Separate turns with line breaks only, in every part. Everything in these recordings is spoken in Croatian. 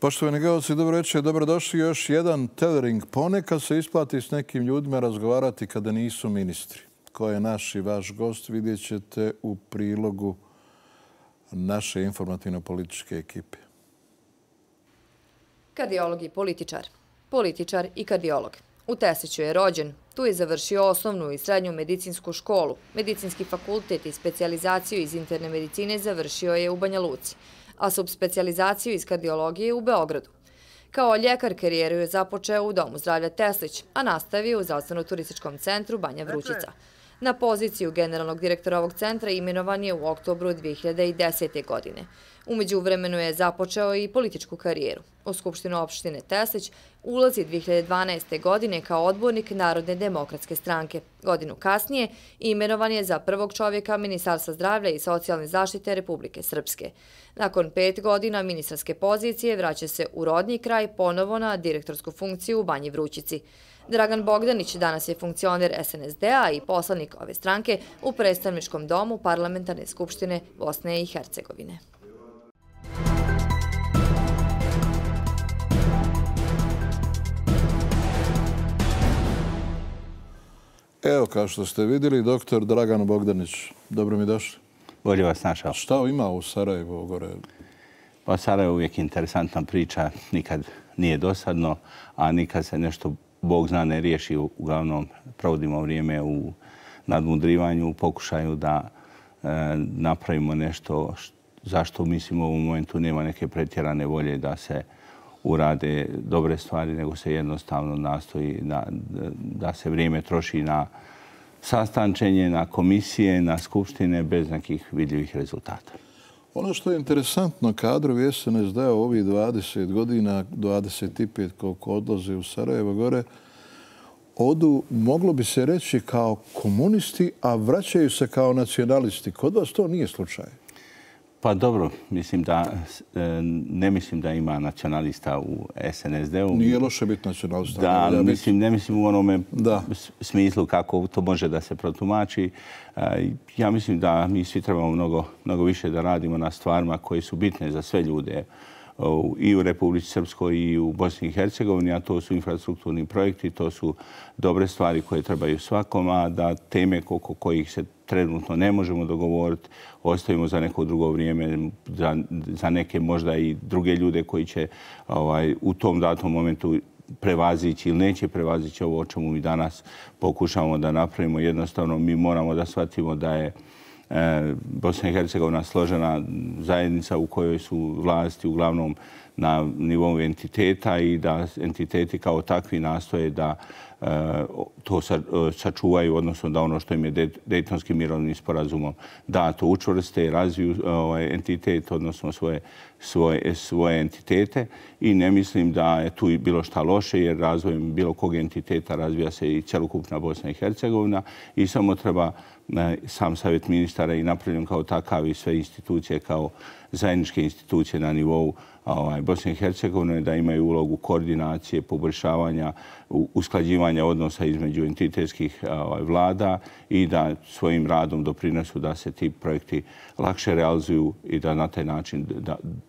Poštovani gledalci, dobro večer, dobrodošli još jedan tethering. Ponekad se isplati s nekim ljudima razgovarati kada nisu ministri. Ko je naš i vaš gost vidjet ćete u prilogu naše informativno-političke ekipe.
Kardiolog i političar. Političar i kardiolog. U Tesliću je rođen. Tu je završio osnovnu i srednju medicinsku školu. Medicinski fakultet i specijalizaciju iz interne medicine završio je u Banja Luci, a subspecijalizaciju iz kardiologije u Beogradu. Kao ljekar karijeru je započeo u Domu zdravlja Teslić, a nastavio u Zdravstveno-turističkom centru Banja Vrućica. Na poziciju generalnog direktora ovog centra imenovan je u oktobru 2010. godine. U međuvremenu je započeo i političku karijeru. U Skupštinu opštine Teslić ulazi 2012. godine kao odbornik Narodne demokratske stranke. Godinu kasnije imenovan je za prvog čovjeka Ministarstva zdravlja i socijalne zaštite Republike Srpske. Nakon 5 godina ministarske pozicije vraća se u rodni kraj ponovo na direktorsku funkciju u Banji Vrućici. Dragan Bogdanić danas je funkcioner SNSD-a i poslanik ove stranke u predstavničkom domu Parlamentarne skupštine Bosne i Hercegovine.
Evo, kao što ste vidjeli, doktor Dragan Bogdanić. Dobro mi došli.
Bolje vas našao.
Šta ima u Sarajevu gore?
Pa Sarajevo je uvijek interesantna priča, nikad nije dosadno, a nikad se nešto, Bog zna, ne riješi. Uglavnom provodimo vrijeme u nadmudrivanju, u pokušaju da napravimo nešto zašto mislimo u ovom momentu nema neke pretjerane volje da se urade dobre stvari, nego se jednostavno nastoji da se vrijeme troši na sastančenje, na komisije, na skupštine bez nekih vidljivih rezultata.
Ono što je interesantno, kadrovi SNSD-a ovih 20 godina, 25 koliko odlaze u Sarajevo gore, odu, moglo bi se reći, kao komunisti, a vraćaju se kao nacionalisti. Kod vas to nije slučaj?
Pa dobro, ne mislim da ima nacionalista u SNSD-u.
Nije loše biti nacionalista.
Da, ne mislim u onome smislu kako to može da se protumači. Ja mislim da mi svi trebamo mnogo više da radimo na stvarima koje su bitne za sve ljude i u Republici Srpskoj i u Bosni i Hercegovini, a to su infrastrukturni projekti, to su dobre stvari koje trebaju svakom, a da teme oko kojih se trenutno ne možemo dogovoriti ostavimo za neko drugo vrijeme, za neke možda i druge ljude koji će u tom datom momentu prevazići ili neće prevazići ovo o čemu mi danas pokušavamo da napravimo. Jednostavno mi moramo da shvatimo da je Bosna i Hercegovina složena zajednica u kojoj su vlasti uglavnom na nivou entiteta i da entiteti kao takvi nastoje da to sačuvaju, odnosno da ono što im je Dejtonskim mirovnim sporazumom da to učvrste, razviju entitet, odnosno svoje entitete i ne mislim da je tu bilo šta loše jer razvojem bilo kog entiteta razvija se i cjelokupna Bosna i Hercegovina i samo treba sam savjet ministara i napravljen kao takav i sve institucije kao zajedničke institucije na nivou Bosne i Hercegovine da imaju ulogu koordinacije, poboljšavanja, usklađivanja odnosa između entitetskih vlada i da svojim radom doprinesu da se ti projekti lakše realizuju i da na taj način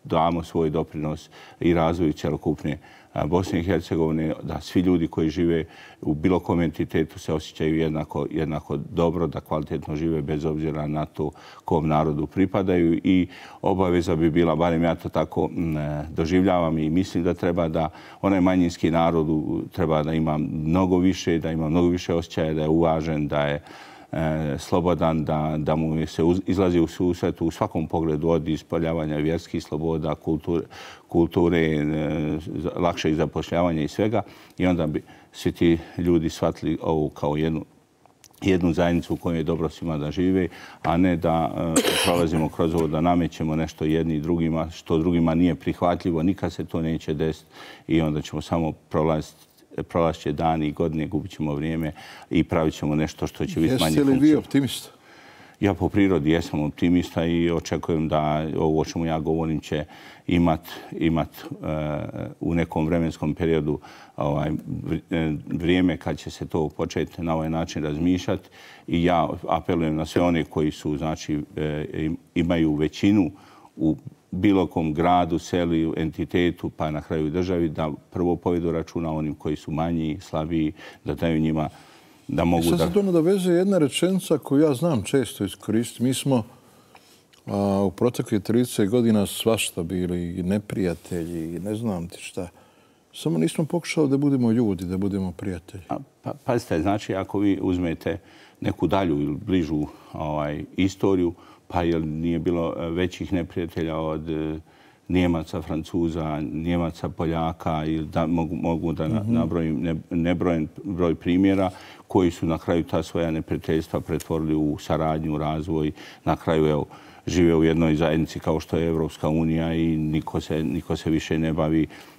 damo svoj doprinos i razvoju cjelokupne Bosne i Hercegovine, da svi ljudi koji žive u bilo kom entitetu se osjećaju jednako dobro, da kvalitetno žive bez obzira na to kom narodu pripadaju i obaveza bi bila, barem ja to tako doživljavam i mislim da treba da onaj manjinski narod treba da ima mnogo više, da ima mnogo više osjećaja, da je uvažen, da je slobodan, da mu se izlazi u susret u svakom pogledu od ispoljavanja vjerskih sloboda, kulture, lakšeg zapošljavanja i svega. I onda bi svi ti ljudi shvatili ovo kao jednu zajednicu u kojoj je dobro svima da žive, a ne da prolazimo kroz ovo da namećemo nešto jedni drugima, što drugima nije prihvatljivo. Nikad se to neće desiti i onda ćemo samo prolazit će dani i godine, gubit ćemo vrijeme i pravit ćemo nešto što će biti manje funkcionalno.
Jeste li vi optimista?
Ja po prirodi jesam optimista i očekujem da ovo o čemu ja govorim će imat u nekom vremenskom periodu vrijeme kad će se to početi na ovaj način razmišljati. I ja apelujem na sve one koji su, znači, imaju većinu u bilo kom gradu, selu, entitetu, pa na kraju državi, da prvo povedu računa onim koji su manji, slabiji, da daju njima da mogu da...
Sad se to nadovezuje jedna rečenica koju ja znam često iskoristiti. Mi smo u proteklih 30 godina svašta bili i neprijatelji i ne znam ti šta. Samo nismo pokušali da budemo ljudi, da budemo prijatelji.
Pazite, znači ako vi uzmete neku dalju ili bližu istoriju, pa jer nije bilo većih neprijatelja od Njemaca, Francuza, Njemaca, Poljaka, ili da mogu da nabrojim nebrojen broj primjera koji su na kraju ta svoja neprijateljstva pretvorili u saradnju, razvoj. Na kraju, evo, žive u jednoj zajednici kao što je Evropska unija i niko se više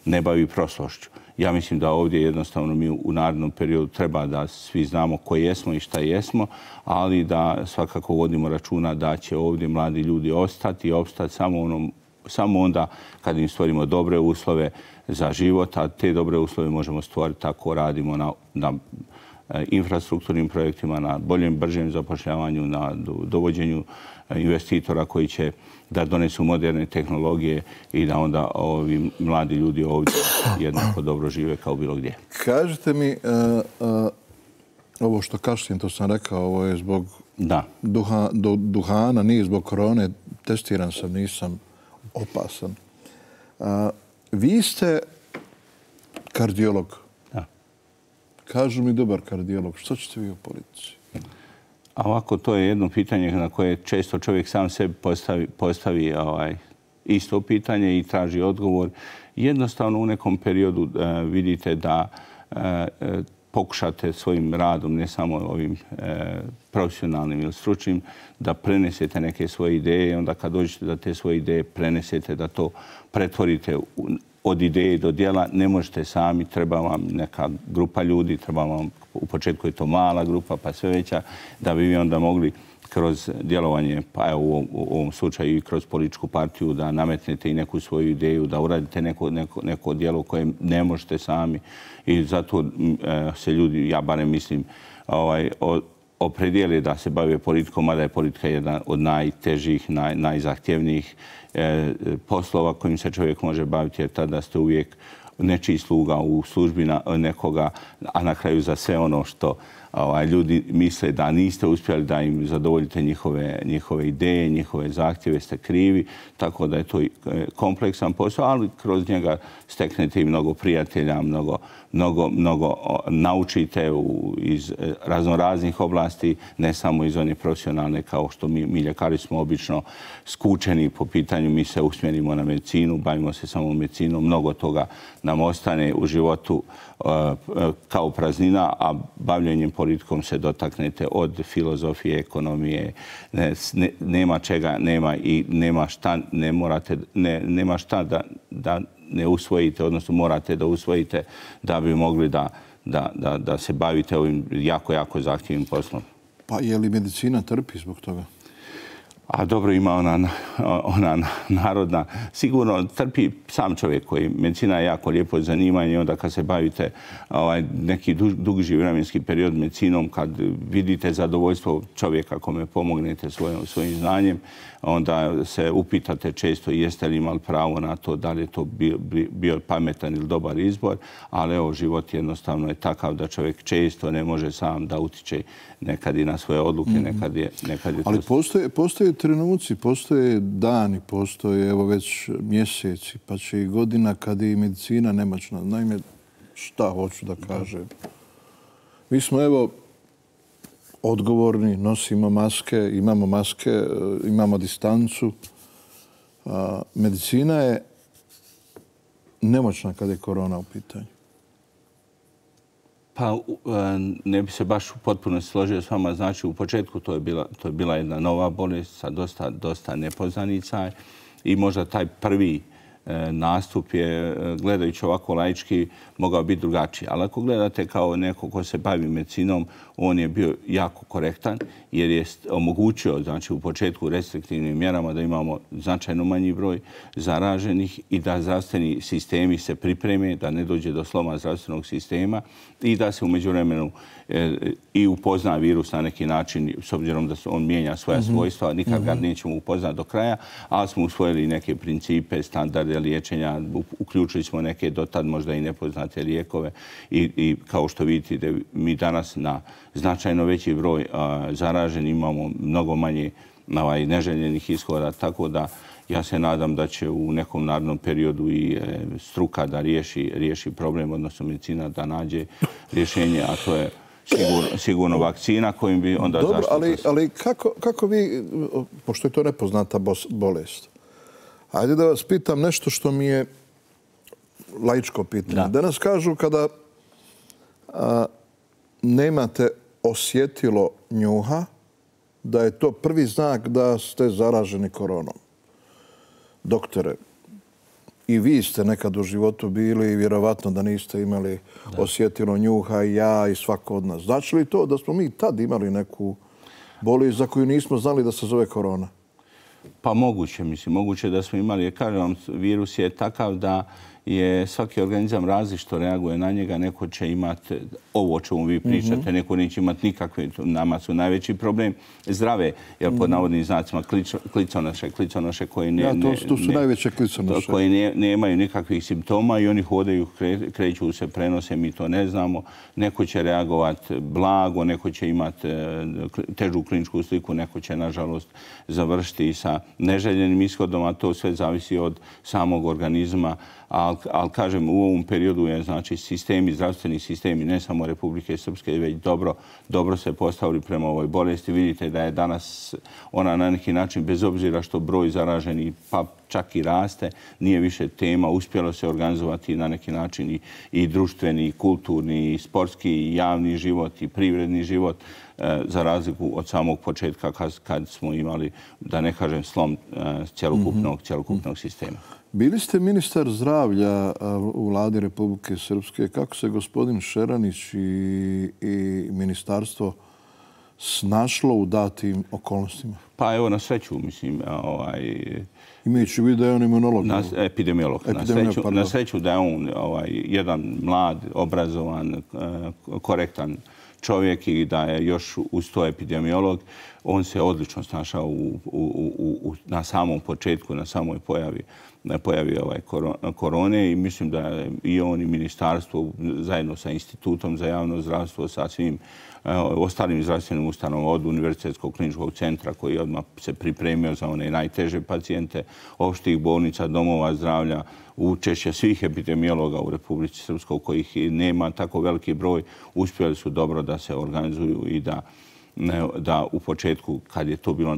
ne bavi prošlošću. Ja mislim da ovdje jednostavno mi u narednom periodu treba da svi znamo ko jesmo i šta jesmo, ali da svakako vodimo računa da će ovdje mladi ljudi ostati i opstati samo onda kad im stvorimo dobre uslove za život, a te dobre uslove možemo stvoriti tako radimo na infrastrukturnim projektima, na boljem, bržem zapošljavanju, na dovođenju investitora koji će da donesu moderne tehnologije i da onda ovi mladi ljudi ovdje jednako dobro žive kao bilo gdje.
Kažete mi, ovo što kašljem, to sam rekao, ovo je zbog duhana, nije zbog korone, testiran sam, nisam opasan. Vi ste kardiolog.
Da.
Kažu mi dobar kardiolog. Što ćete vi u politici?
A ovako, to je jedno pitanje na koje često čovjek sam sebi postavi isto pitanje i traži odgovor. Jednostavno u nekom periodu vidite da pokušate svojim radom, ne samo ovim profesionalnim ili stručnim, da prenesete neke svoje ideje. Onda kad dođete da te svoje ideje prenesete, da to pretvorite od ideje do djela, ne možete sami, treba vam neka grupa ljudi, treba vam, u početku je to mala grupa, pa sve veća, da bi vi onda mogli kroz djelovanje, pa evo u ovom slučaju i kroz političku partiju, da nametnete i neku svoju ideju, da uradite neko djelo koje ne možete sami. I zato se ljudi, ja barem mislim, opredijeli da se bave politikom, mada je politika jedna od najtežih, najzahtjevnijih poslova kojim se čovjek može baviti, jer tada ste uvijek nečiji sluga u službi nekoga, a na kraju za sve ono što ljudi misle da niste uspjeli da im zadovoljite njihove ideje, njihove zahtjeve, ste krivi. Tako da je to kompleksan posao, ali kroz njega steknete i mnogo prijatelja, mnogo naučite iz raznoraznih oblasti, ne samo iz one profesionalne, kao što mi ljekari smo obično skučeni po pitanju, mi se usmjerimo na medicinu, bavimo se samo medicinom, mnogo toga nam ostane u životu kao praznina, a bavljenjem politikom se dotaknete od filozofije, ekonomije, nema čega, nema i nema šta da ne usvojite, odnosno morate da usvojite da bi mogli da se bavite ovim jako zahtjevnim poslom.
Pa je li medicina trpi zbog toga?
A dobro, ima ona narodna. Sigurno trpi sam čovjek koji medicina je jako lijepo zanimanje i onda kad se bavite neki duži vremenski period medicinom, kad vidite zadovoljstvo čovjeka kome pomognete svojim znanjem, onda se upitate često jeste li imali pravo na to, da li je to bio pametan ili dobar izbor, ali evo, život jednostavno je takav da čovjek često ne može sam da utiče nekad i na svoje odluke, nekad je to...
Ali postoje trenuci, postoje dani, postoje evo već mjeseci, pa će i godina kad je i medicina nemoćna. Naime, šta hoću da kažem? Mi smo evo odgovorni, nosimo maske, imamo distancu. Medicina je nemoćna kad je korona u pitanju.
Pa ne bi se baš potpuno složio s vama. Znači, u početku to je bila jedna nova bolest sa dosta nepoznanica i možda taj prvi nastup je, gledajući ovako laički, mogao biti drugačiji. Ali ako gledate kao neko ko se bavi medicinom, on je bio jako korektan jer je omogućio, znači u početku restriktivnim mjerama da imamo značajno manji broj zaraženih i da zdravstveni sistemi se pripreme, da ne dođe do sloma zdravstvenog sistema i da se u međuvremenu i upozna virus na neki način, s obzirom da on mijenja svoja svojstva, nikad ga nećemo upoznati do kraja, ali smo usvojili neke principe, standarde liječenja, uključili smo neke dotad možda i nepoznate lijekove i kao što vidite mi danas na značajno veći broj zaraženi imamo mnogo manje neželjenih ishoda, tako da ja se nadam da će u nekom narednom periodu i struka da riješi problem, odnosno medicina da nađe rješenje, a to je sigurno vakcina kojim bi onda zaštitila.
Dobro, ali kako vi, pošto je to nepoznata bolest, ajde da vas pitam nešto što mi je laičko pitanje. Danas kažu kada nemate osjetilo njuha, da je to prvi znak da ste zaraženi koronom. Doktore, i vi ste nekad u životu bili i vjerovatno da niste imali osjetilo njuha, i ja i svako od nas. Znači li to da smo mi tad imali neku bolest za koju nismo znali da se zove korona?
Pa moguće, mislim. Moguće da smo imali. Kažem vam, virus je takav da je svaki organizam različito reaguje na njega. Neko će imati ovo o čemu vi pričate, neko neće imati nikakve. Nama su najveći problem zdrave, jer pod navodnim znacima kliconoše koji nemaju nikakvih simptoma i oni hodaju, kreću se, prenose, mi to ne znamo. Neko će reagovati blago, neko će imati težu kliničku sliku, neko će, nažalost, završiti sa neželjenim ishodom, a to sve zavisi od samog organizma. Ali kažem, u ovom periodu je, znači, zdravstveni sistemi, ne samo Republike Srpske, već dobro se postavili prema ovoj bolesti. Vidite da je danas ona na neki način, bez obzira što broj zaraženih pa čak i raste, nije više tema. Uspjelo se organizovati na neki način i društveni, i kulturni, i sportski, i javni život, i privredni život, za razliku od samog početka kad smo imali, da ne kažem, slom cjelokupnog sistema.
Bili ste ministar zdravlja u vladi Republike Srpske. Kako se gospodin Šeranić i ministarstvo snašlo u datim okolnostima?
Pa evo, na sreću, mislim,
imajući u vidu da je on imunolog.
Epidemiolog. Na sreću da je on jedan mlad, obrazovan, korektan čovjek i da je još uz to epidemiolog. On se odlično snašao na samom početku, na samoj pojavi korone i mislim da je i on i ministarstvo zajedno sa Institutom za javno zdravstvo, sa svim ostalim zdravstvenim ustanovama od Univerzitetskog kliničkog centra koji odmah se pripremio za one najteže pacijente, opštih bolnica, domova zdravlja, učešće svih epidemiologa u Republici Srpskoj kojih nema tako veliki broj, uspjeli su dobro da se organizuju i da u početku, kad je to bilo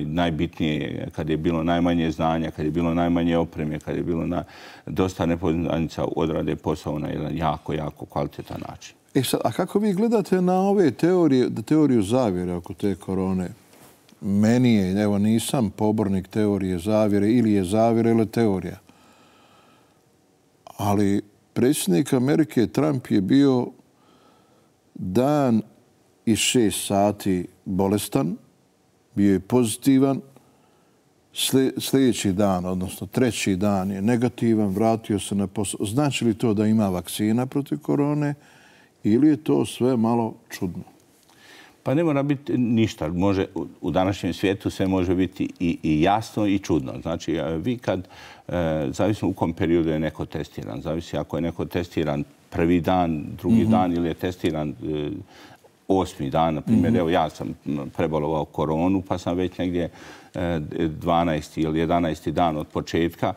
najbitnije, kad je bilo najmanje znanja, kad je bilo najmanje opreme, kad je bilo dosta nepoznanica, odrade posao na jedan jako kvalitetan način.
A kako vi gledate na ove teoriju zavjere oko te korone? Meni je, evo, nisam pobornik teorije zavjere, ili je zavjera ili teorija. Ali predsjednik Amerike Trump je bio dan i 6 sati bolestan, bio je pozitivan, sljedeći dan, odnosno 3. dan je negativan, vratio se na posao. Znači li to da ima vakcina protiv korone ili je to sve malo čudno?
Pa ne mora biti ništa. U današnjem svijetu sve može biti i jasno i čudno. Znači, vi kad, zavisno u kom periodu je neko testiran, zavisi ako je neko testiran prvi dan, drugi dan ili je testiran 8. dan, na primjer. Evo, ja sam prebolovao koronu, pa sam već negdje 12. ili 11. dan od početka,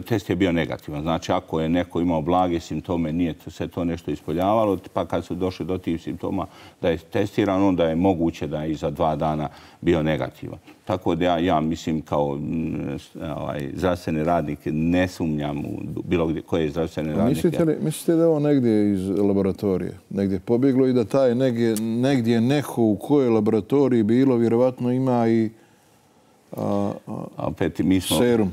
test je bio negativan. Znači, ako je neko imao blage simptome, nije se to nešto ispoljavalo, pa kad su došli do tih simptoma da je testiran, onda je moguće da je i za 2 dana bio negativan. Tako da ja mislim kao zdravstveni radnik ne sumnjam u bilo koje zdravstvene radnike.
Mislite da je ovo negdje iz laboratorije? Negdje pobjeglo i da taj negdje neko u kojoj laboratoriji bilo vjerovatno ima i
opet
serum.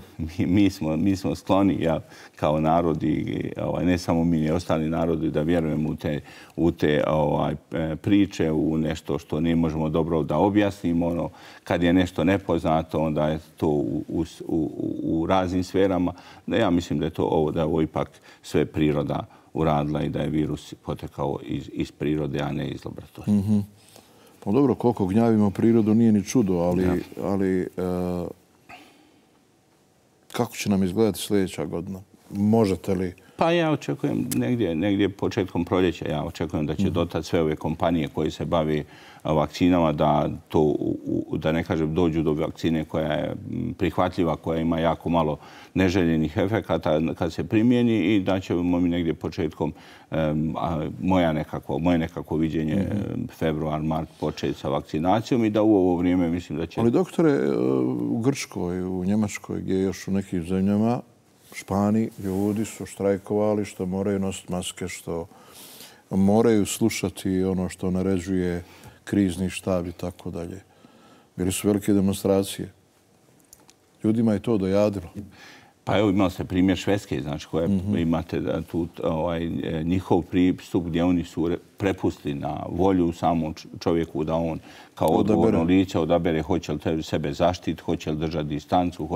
Mi smo skloni kao narod i ne samo mi, i ostali narodi da vjerujemo u te priče, u nešto što ne možemo dobro da objasnimo. Kad je nešto nepoznato, onda je to u raznim sferama. Ja mislim da je ovo ipak sve priroda uradila i da je virus potekao iz prirode, a ne iz laboratorije.
Pa dobro, koliko gnjavimo prirodu nije ni čudo, ali kako će nam izgledati sljedeća godina? Možete li?
Pa ja očekujem negdje početkom proljeća. Ja očekujem da će dotad sve ove kompanije koje se bavi vakcinama da ne kažem dođu do vakcine koja je prihvatljiva, koja ima jako malo neželjenih efekata kad se primjeni i da ćemo mi negdje početkom moje nekako viđenje februar, mart početi sa vakcinacijom i da u ovo vrijeme mislim da će...
Ali doktore, u Grčkoj, u Njemačkoj, gdje još u nekim zemljama, Španiji, ljudi su štrajkovali što moraju nositi maske, što moraju slušati ono što naređuje krizni štab i tako dalje. Bili su velike demonstracije. Ljudima je to dojadilo.
Pa evo imali ste primjer Švedske, znači koja imate tu njihov pristup gdje oni su prepustili na volju samom čovjeku da on kao odgovorno lice odabere hoće li sebe zaštiti, hoće li držati distancu,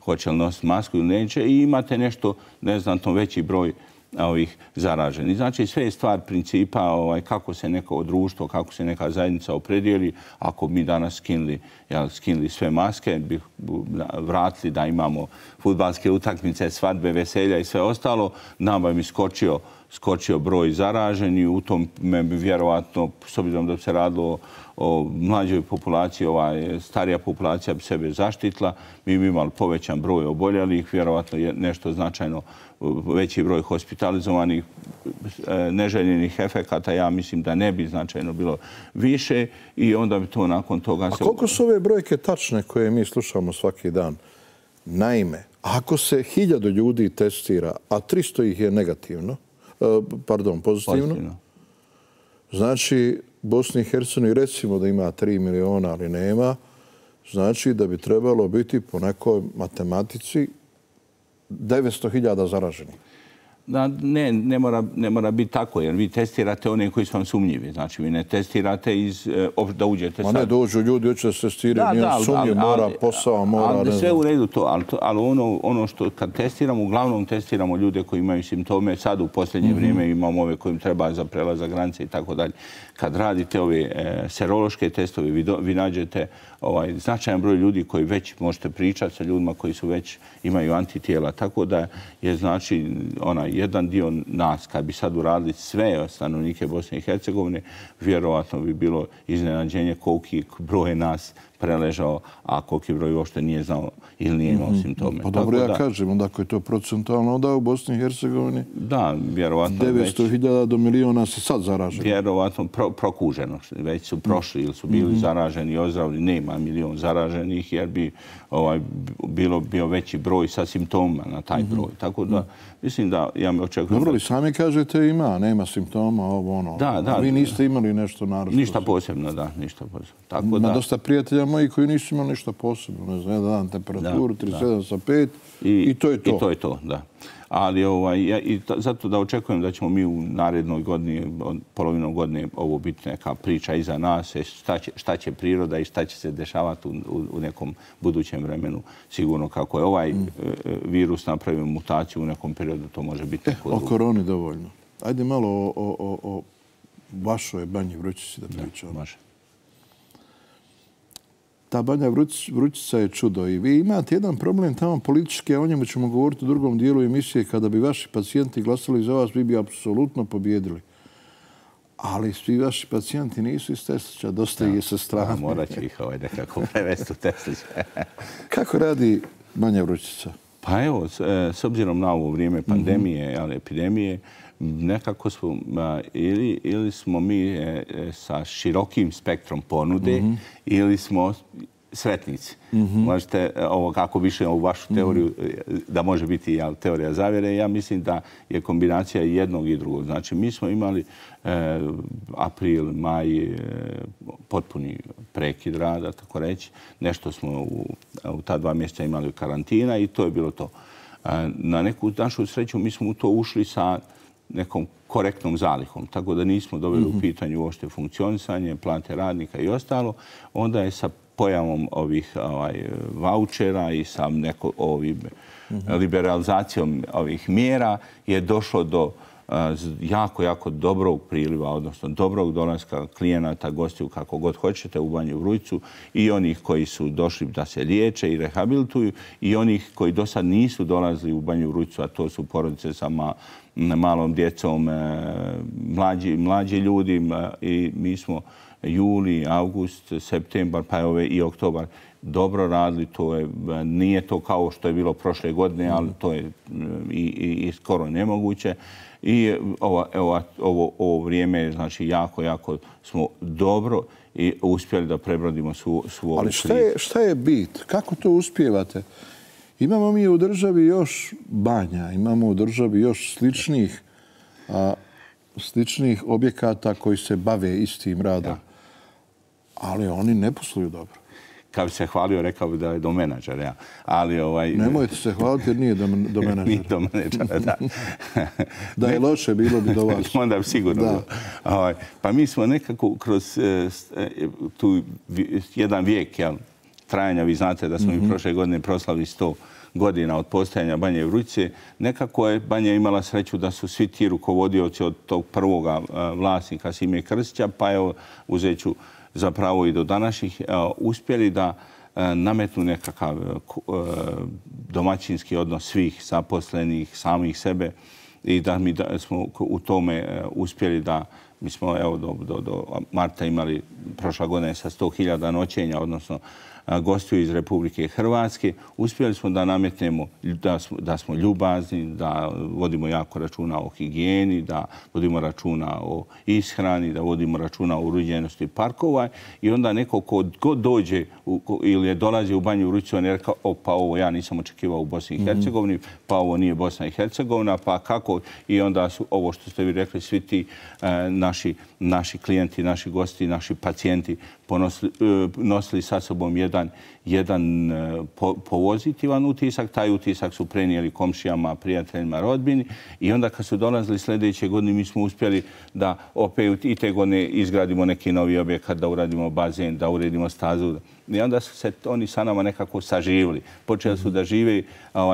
hoće li nositi masku ili neće i imate nešto neznatno veći broj ovih zaraženih. Znači sve je stvar principa kako se neko društvo, kako se neka zajednica opredijeli. Ako mi danas skinuli sve maske, bi vratili da imamo fudbalske utakmice, svadbe, veselja i sve ostalo, nama bi skočio broj zaraženih. U tom bi vjerovatno, s obzirom da bi se radilo o mlađoj populaciji, starija populacija bi sebe zaštitila, mi bi imali povećan broj oboljelih, vjerovatno nešto značajno veći broj hospitalizovanih, neželjenih efekata, ja mislim da ne bi značajno bilo više i onda bi to nakon toga...
A koliko su ove brojke tačne koje mi slušamo svaki dan? Naime, ako se 1000 ljudi testira, a 300 ih je negativno, pozitivno, znači Bosni i Hercegovini recimo da ima 3 miliona, ali nema, znači da bi trebalo biti po nekoj matematici 900.000 zaraženih.
Ne mora biti tako, jer vi testirate one koji su vam sumnjivi. Znači, vi ne testirate da uđete sad.
Ma ne dođu ljudi, hoće da se testiraju, nije sumnjiv, mora posao, mora...
Ali sve u redu to, ali ono što kad testiramo, uglavnom testiramo ljude koji imaju simptome. Sad u posljednje vrijeme imamo ove kojim treba za prelazak granice i tako dalje. Kad radite ove serološke testove, vi nađete značajan broj ljudi koji već možete pričati sa ljudima koji su već imaju antitijela. Tako da je znači jedan dio nas, kad bi sad uradili sve stanovnike Bosne i Hercegovine, vjerovatno bi bilo iznenađenje koliki broj nas preležao, a koliki broj uopšte nije znao ili nije imao simptome.
Pa dobro, ja kažem, onda ako je to procentualno onda u Bosni i Hercegovini,
da, vjerovatno
900.000 do miliona se sad zaraženi.
Vjerovatno prokuženo. Već su prošli ili su bili zaraženi i ozdravili. Nema milion zaraženih jer bi bio veći broj sa simptoma na taj broj. Tako da, mislim da ja me očekujem...
Dobro, li sami kažete nema simptoma, ovo ono.
Da.
Vi niste imali nešto naravno.
Ništa posebno, da, ništa posebno.
Ima dosta prijatelja moji koji nisu imali ništa posebno. Ne znam, jedan dan temperaturu, 37 sa 5 i to je to.
I to je to, da. Ali zato da očekujem da ćemo mi u narednoj godini, polovinom godine, ovo biti neka priča iza nas, šta će priroda i šta će se dešavati u nekom budućem vremenu. Sigurno kako je ovaj virus napravio mutaciju u nekom periodu, to može biti neko drugo.
O koroni dovoljno. Ajde malo o vašoj Banji Vrućici da pričamo.
Može.
Ta Banja Vrućica je čudo i vi imate jedan problem tamo politički, a o njemu ćemo govoriti u drugom dijelu emisije. Kada bi vaši pacijenti glasali za vas, vi bi apsolutno pobjedili. Ali svi vaši pacijenti nisu iz Teslića, dosta ih je sa strane.
Morat će ih nekako prevesti u Teslić.
Kako radi Banja Vrućica?
Pa evo, s obzirom na ovo vrijeme pandemije, epidemije, nekako smo, ili smo mi sa širokim spektrom ponude, ili smo sretnici. Možete, kako više u vašu teoriju, da može biti teorija zavjere, ja mislim da je kombinacija jednog i drugog. Znači, mi smo imali april, maj, potpuni prekid rada, tako reći. Nešto smo u ta 2 mjeseca imali karantina i to je bilo to. Na neku našu sreću mi smo u to ušli sa nekom korektnom zalihom, tako da nismo doveli u pitanju uopšte funkcionisanje, plate radnika i ostalo. Onda je sa pojavom ovih vaučera i sa liberalizacijom ovih mjera je došlo do jako dobrog priliva, odnosno dobrog dolaska klijenata, gostiju, kako god hoćete, u Banju Vrujcu i onih koji su došli da se liječe i rehabilituju i onih koji do sad nisu dolazili u Banju Vrujcu, a to su porodice sa malom djecom, mlađi ljudi i mi smo juli, august, septembar, pa i oktobar dobro radili. Nije to kao što je bilo prošle godine, ali to je i skoro nemoguće. I ovo vrijeme, znači, jako smo dobro i uspjeli da prebrodimo svu ovu krizu.
Ali šta je bit? Kako to uspijevate? Imamo mi u državi još banja, imamo u državi još sličnih objekata koji se bave istim radom. Ali oni ne posluju dobro.
Kad bi se hvalio, rekao bi da je do menadžera.
Nemojte se hvaliti jer nije do menadžera.
Nije do menadžera, da.
Da je loše, bilo bi do vas.
Onda bi sigurno bilo. Pa mi smo nekako kroz tu jedan vijek trajanja, vi znate da smo i prošle godine proslavili 100 godina od postojanja Banje Vrujce. Nekako je Banja imala sreću da su svi ti rukovodioci od tog prvoga vlasnika Sime Krstića, pa evo uzet ću zapravo i do današnjih, uspjeli da nametnu nekakav domaćinski odnos svih zaposlenih, samih sebe i da smo u tome uspjeli da mi smo do marta imali prošla godina sa 100.000 noćenja, odnosno gostiju iz Republike Hrvatske. Uspjeli smo da nametnemo da smo ljubazni, da vodimo jako računa o higijeni, da vodimo računa o ishrani, da vodimo računa o uređenosti parkova i onda neko ko god dođe ili je dolazi u Banju Vrujcu, on je rekao, pa ovo ja nisam očekivao u Bosni i Hercegovini, pa ovo nije Bosna i Hercegovina, pa kako? I onda su ovo što ste vi rekli, svi ti naši klijenti, naši gosti, naši pacijenti nosili sa sobom jedan pozitivan utisak. Taj utisak su prenijeli komšijama, prijateljima, rodbini i onda kad su dolazili sljedeće godine mi smo uspjeli da opet i te godine izgradimo neki novi objekat, da uradimo bazen, da uredimo stazu. I onda su se oni sa nama nekako saživili. Počeli su da žive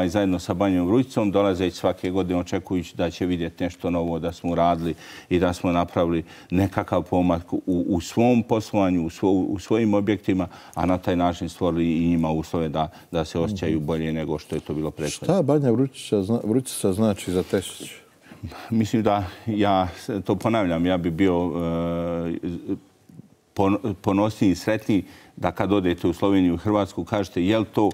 zajedno sa Banjom Vrujcom, dolazeći svake godine očekujući da će vidjeti nešto novo, da smo uradili i da smo napravili nekakav pomak u svom poslovanju, u svojim objektima, a na taj način stvorili i njima uslove da se osjećaju bolje nego što je to bilo prethodno.
Šta Banja Vrujca znači za Tesić?
Mislim da ja to ponavljam, ja bi bio ponosniji i sretniji da kad odete u Sloveniju i Hrvatsku kažete je li to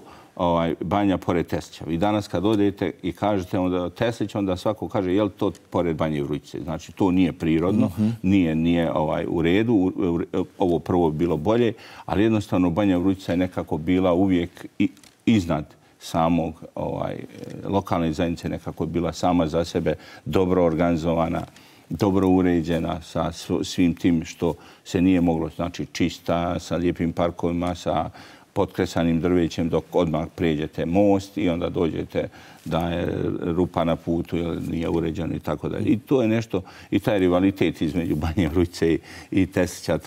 Banja pored Tesića. Vi danas kad odete i kažete onda Tesić, onda svako kaže je li to pored Banje Vrujce. Znači to nije prirodno, nije u redu. Ovo prvo bi bilo bolje, ali jednostavno Banja Vrujca je nekako bila uvijek iznad samog lokalne zajednice, nekako je bila sama za sebe dobro organizovana, dobro uređena sa svim tim što se nije moglo, znači čista, sa lijepim parkovima, sa potkresanim drvećem dok odmah prijeđete most i onda dođete da je rupa na putu ili nije uređeno i tako dalje. I to je nešto, i taj rivalitet između Banje Vrujce i Tesića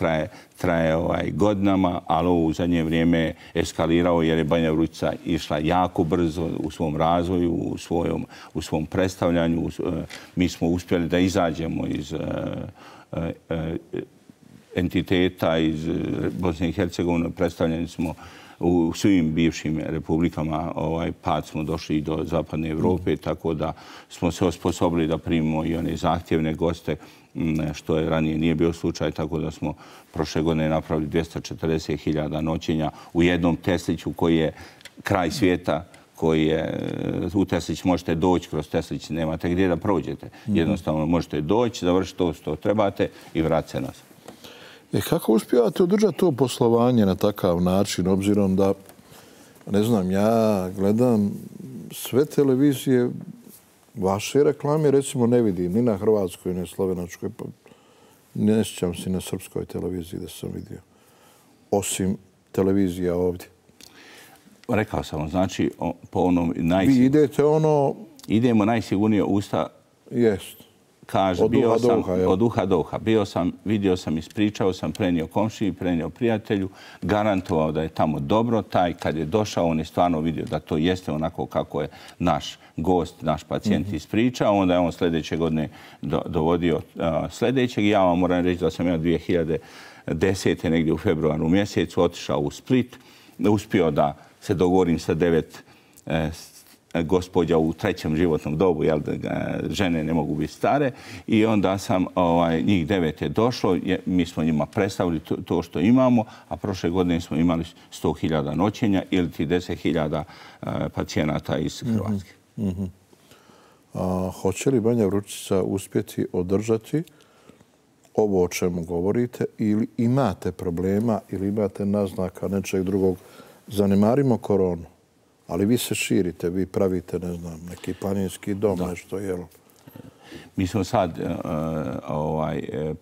traje godinama, ali ovo u zadnje vrijeme je eskalirao jer je Banja Vrujca išla jako brzo u svom razvoju, u svom predstavljanju. Mi smo uspjeli da izađemo iz entiteta iz Bosne i Hercegovine, predstavljeni smo u svim bivšim republikama, pad smo došli i do zapadne Evrope, tako da smo se osposobili da primimo i one zahtjevne goste, što je ranije nije bio slučaj, tako da smo prošle godine napravili 240.000 noćenja u jednom Tesliću koji je kraj svijeta, koji je, u Teslić možete doći, kroz Teslić nemate gdje da prođete. Jednostavno možete doći, završiti to što trebate i vratiti se nazad.
Kako uspijevate održati to poslovanje na takav način, obzirom da, ne znam, ja gledam sve televizije, vaše reklame, recimo, ne vidim ni na hrvatskoj, ni na slovenačkoj, pa ne sjećam se na srpskoj televiziji da sam vidio. osim televizija ovdje?
Rekao sam, znači, po onom
Vi idete
idemo najsigurnije usta.
Jest.
Kaže, od uha do uha. Vidio sam, ispričao sam, prenio komšiji, prenio prijatelju, garantovao da je tamo dobro. Taj kad je došao, on je stvarno vidio da to jeste onako kako je naš gost, naš pacijent ispričao. Onda je on sljedeće godine dovodio sljedećeg. Ja vam moram reći da sam ja 2010. negdje u februaru mjesecu otišao u Split. Uspio da se dogovorim sa 9 gospođa u 3. životnom dobu, jel, žene ne mogu biti stare, i onda sam, njih 9 je došlo, mi smo njima predstavili to što imamo, a prošle godine smo imali 100.000 noćenja ili ti 10.000 pacijenata iz Hrvatske.
Hoće li Banja Vrućica uspjeti održati ovo o čemu govorite, ili imate problema ili imate naznaka nečeg drugog? Zanemarimo koronu. Ali vi se širite, vi pravite, ne znam, neki planinski dom, nešto, jel?
Mi smo sad,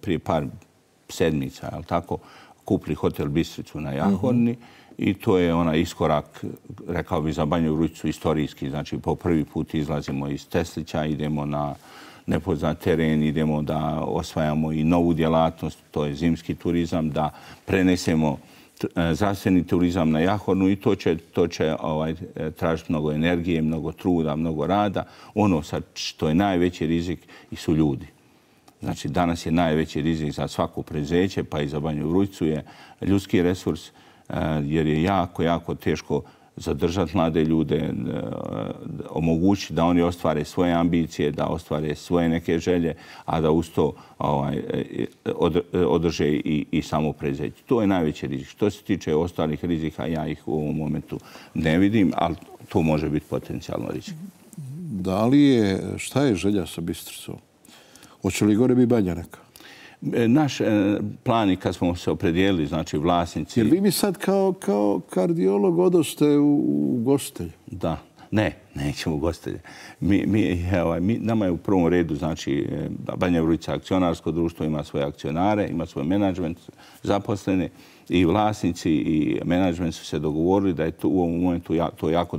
prije par sedmica, jel tako, kupili hotel Bistricu na Jahorni i to je onaj iskorak, rekao bi, za Banju Vrućicu istorijski. Znači, po prvi put izlazimo iz Teslića, idemo na nepoznat teren, idemo da osvajamo i novu djelatnost, to je zimski turizam, da prenesemo zdravstveni turizam na Jahornu i to će tražiti mnogo energije, mnogo truda, mnogo rada. Ono što je najveći rizik su ljudi. Znači, danas je najveći rizik za svako preduzeće, pa i za Banju Vrućicu je ljudski resurs, jer je jako, jako teško zadržati mlade ljude, omogućiti da oni ostvare svoje ambicije, da ostvare svoje neke želje, a da uz to održe i samo preduzeće. To je najveći rizik. Što se tiče ostalih rizika, ja ih u ovom momentu ne vidim, ali to može biti potencijalno rizik.
Da li je, šta je želja sa Bistricom? Hoće li gore biti Banja neka?
Naš plan je kad smo se opredijelili, znači vlasnici...
Jer vi mi sad kao kardiolog odoste u gostelju.
Da. Ne, nećemo u gostelje. Nama je u prvom redu, znači, Banja Vrućica akcionarsko društvo, ima svoje akcionare, ima svoj menadžment zaposlene, i vlasnici i menadžment su se dogovorili da je to u ovom momentu to jako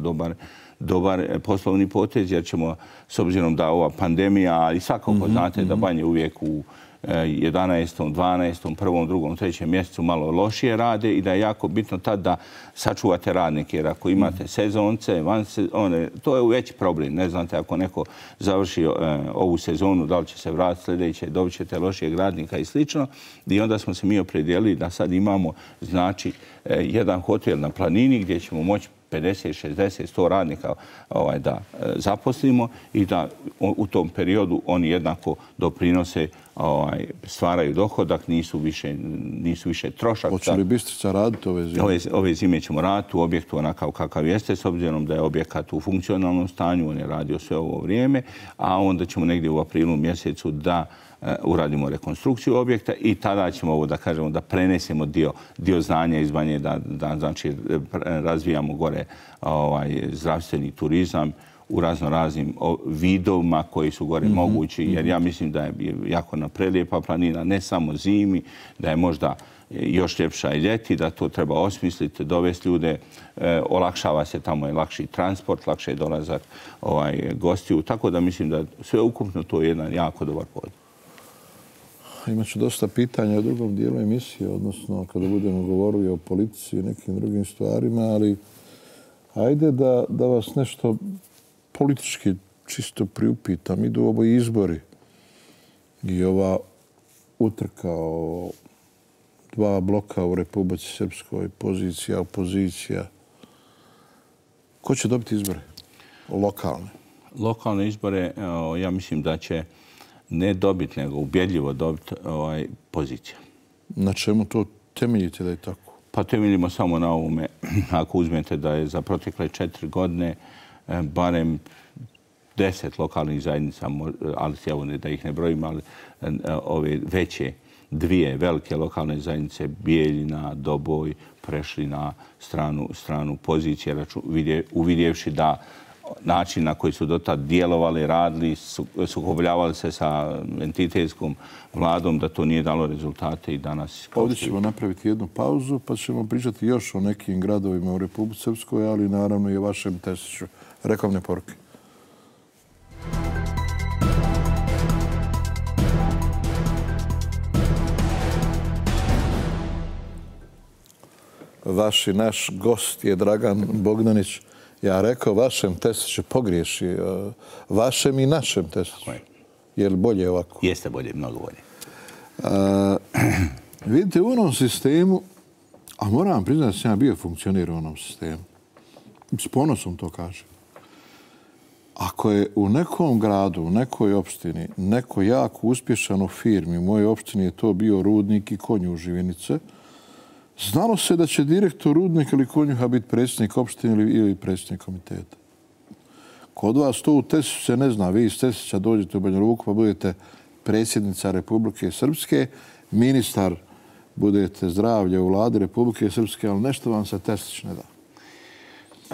dobar poslovni potez, jer ćemo, s obzirom da ova pandemija, i svakako znate da Banje uvijek u 11., 12., 1., 2., 3. mjesecu malo lošije rade i da je jako bitno tad da sačuvate radnike. Jer ako imate sezonce, to je veći problem. Ne znate, ako neko završi ovu sezonu, da li će se vratiti sljedeće, dobit ćete lošijeg radnika i slično. I onda smo se mi opredijelili da sad imamo, znači, jedan hotel na planini gdje ćemo moći 50, 60, 100 radnika da zaposlimo i da u tom periodu oni jednako doprinose, stvaraju dohodak, nisu više trošak.
Hoće li Bistrica raditi ove zime?
Ove zime ćemo raditi u objektu onakav kakav jeste, s obzirom da je objekat u funkcionalnom stanju, on je radio sve ovo vrijeme, a onda ćemo negdje u aprilu mjesecu da uradimo rekonstrukciju objekta i tada ćemo da prenesemo dio znanja iz Banje, da znači razvijamo gore zdravstveni turizam u raznoraznim vidovima koji su gore mogući, jer ja mislim da je jako prelijepa planina, ne samo zimi, da je možda još ljepša i ljeti, da to treba osmisliti, dovesti ljude, olakšava se tamo i lakši transport, lakše je dolazak gostiju, tako da mislim da sve ukupno to je jedan jako dobar povod.
Imaću dosta pitanja u drugom dijelu emisije, odnosno kada budemo govorili o politici i nekim drugim stvarima, ali ajde da vas nešto politički čisto priupitam. Idu ovo izbori i ova utrka o 2 bloka u Republici Srpskoj, pozicija, opozicija. Ko će dobiti izbore? Lokalne?
Lokalne izbore, ja mislim da će ne dobiti, nego ubjedljivo dobiti pozicija.
Na čemu to temeljite da je tako?
Pa temeljimo samo na ovome. Ako uzmete da je za protekle 4 godine barem 10 lokalnih zajednica, ali evo da ih ne brojim, ali ove veće, 2 velike lokalne zajednice, Bijeljina, Doboj, prešli na stranu pozicije, uvidjevši da način na koji su dotad djelovali, radili, sukobljavali se sa entitetskom vladom, da to nije dalo rezultate i danas...
Ovdje ćemo napraviti jednu pauzu, pa ćemo pričati još o nekim gradovima u Republici Srpskoj, ali naravno i o vašem Tesiću. Reklamne poruke. Vaš i naš gost je Dragan Bogdanić. Ja rekao vašem Tesiću, pogriješi. Vašem i našem Tesiću. Je li bolje ovako?
Jeste bolje, mnogo bolje.
Vidite, u onom sistemu, a moram vam priznati da sam ja bio funkcionir u onom sistemu. S ponosom to kažem. Ako je u nekom gradu, u nekoj opštini, neko jako uspješan u firmi, u mojoj opštini je to bio Rudnik i Konjuh Živinice, znalo se da će direktor Rudnika ili Konjuha biti predsjednik opštine ili predsjednik komiteta. Kod vas to u Tesiću se ne zna. Vi iz Tesića dođete u Banja Luku pa budete predsjednica Republike Srpske, ministar budete zdravlja u vladi Republike Srpske, ali nešto vam se Tesić ne da.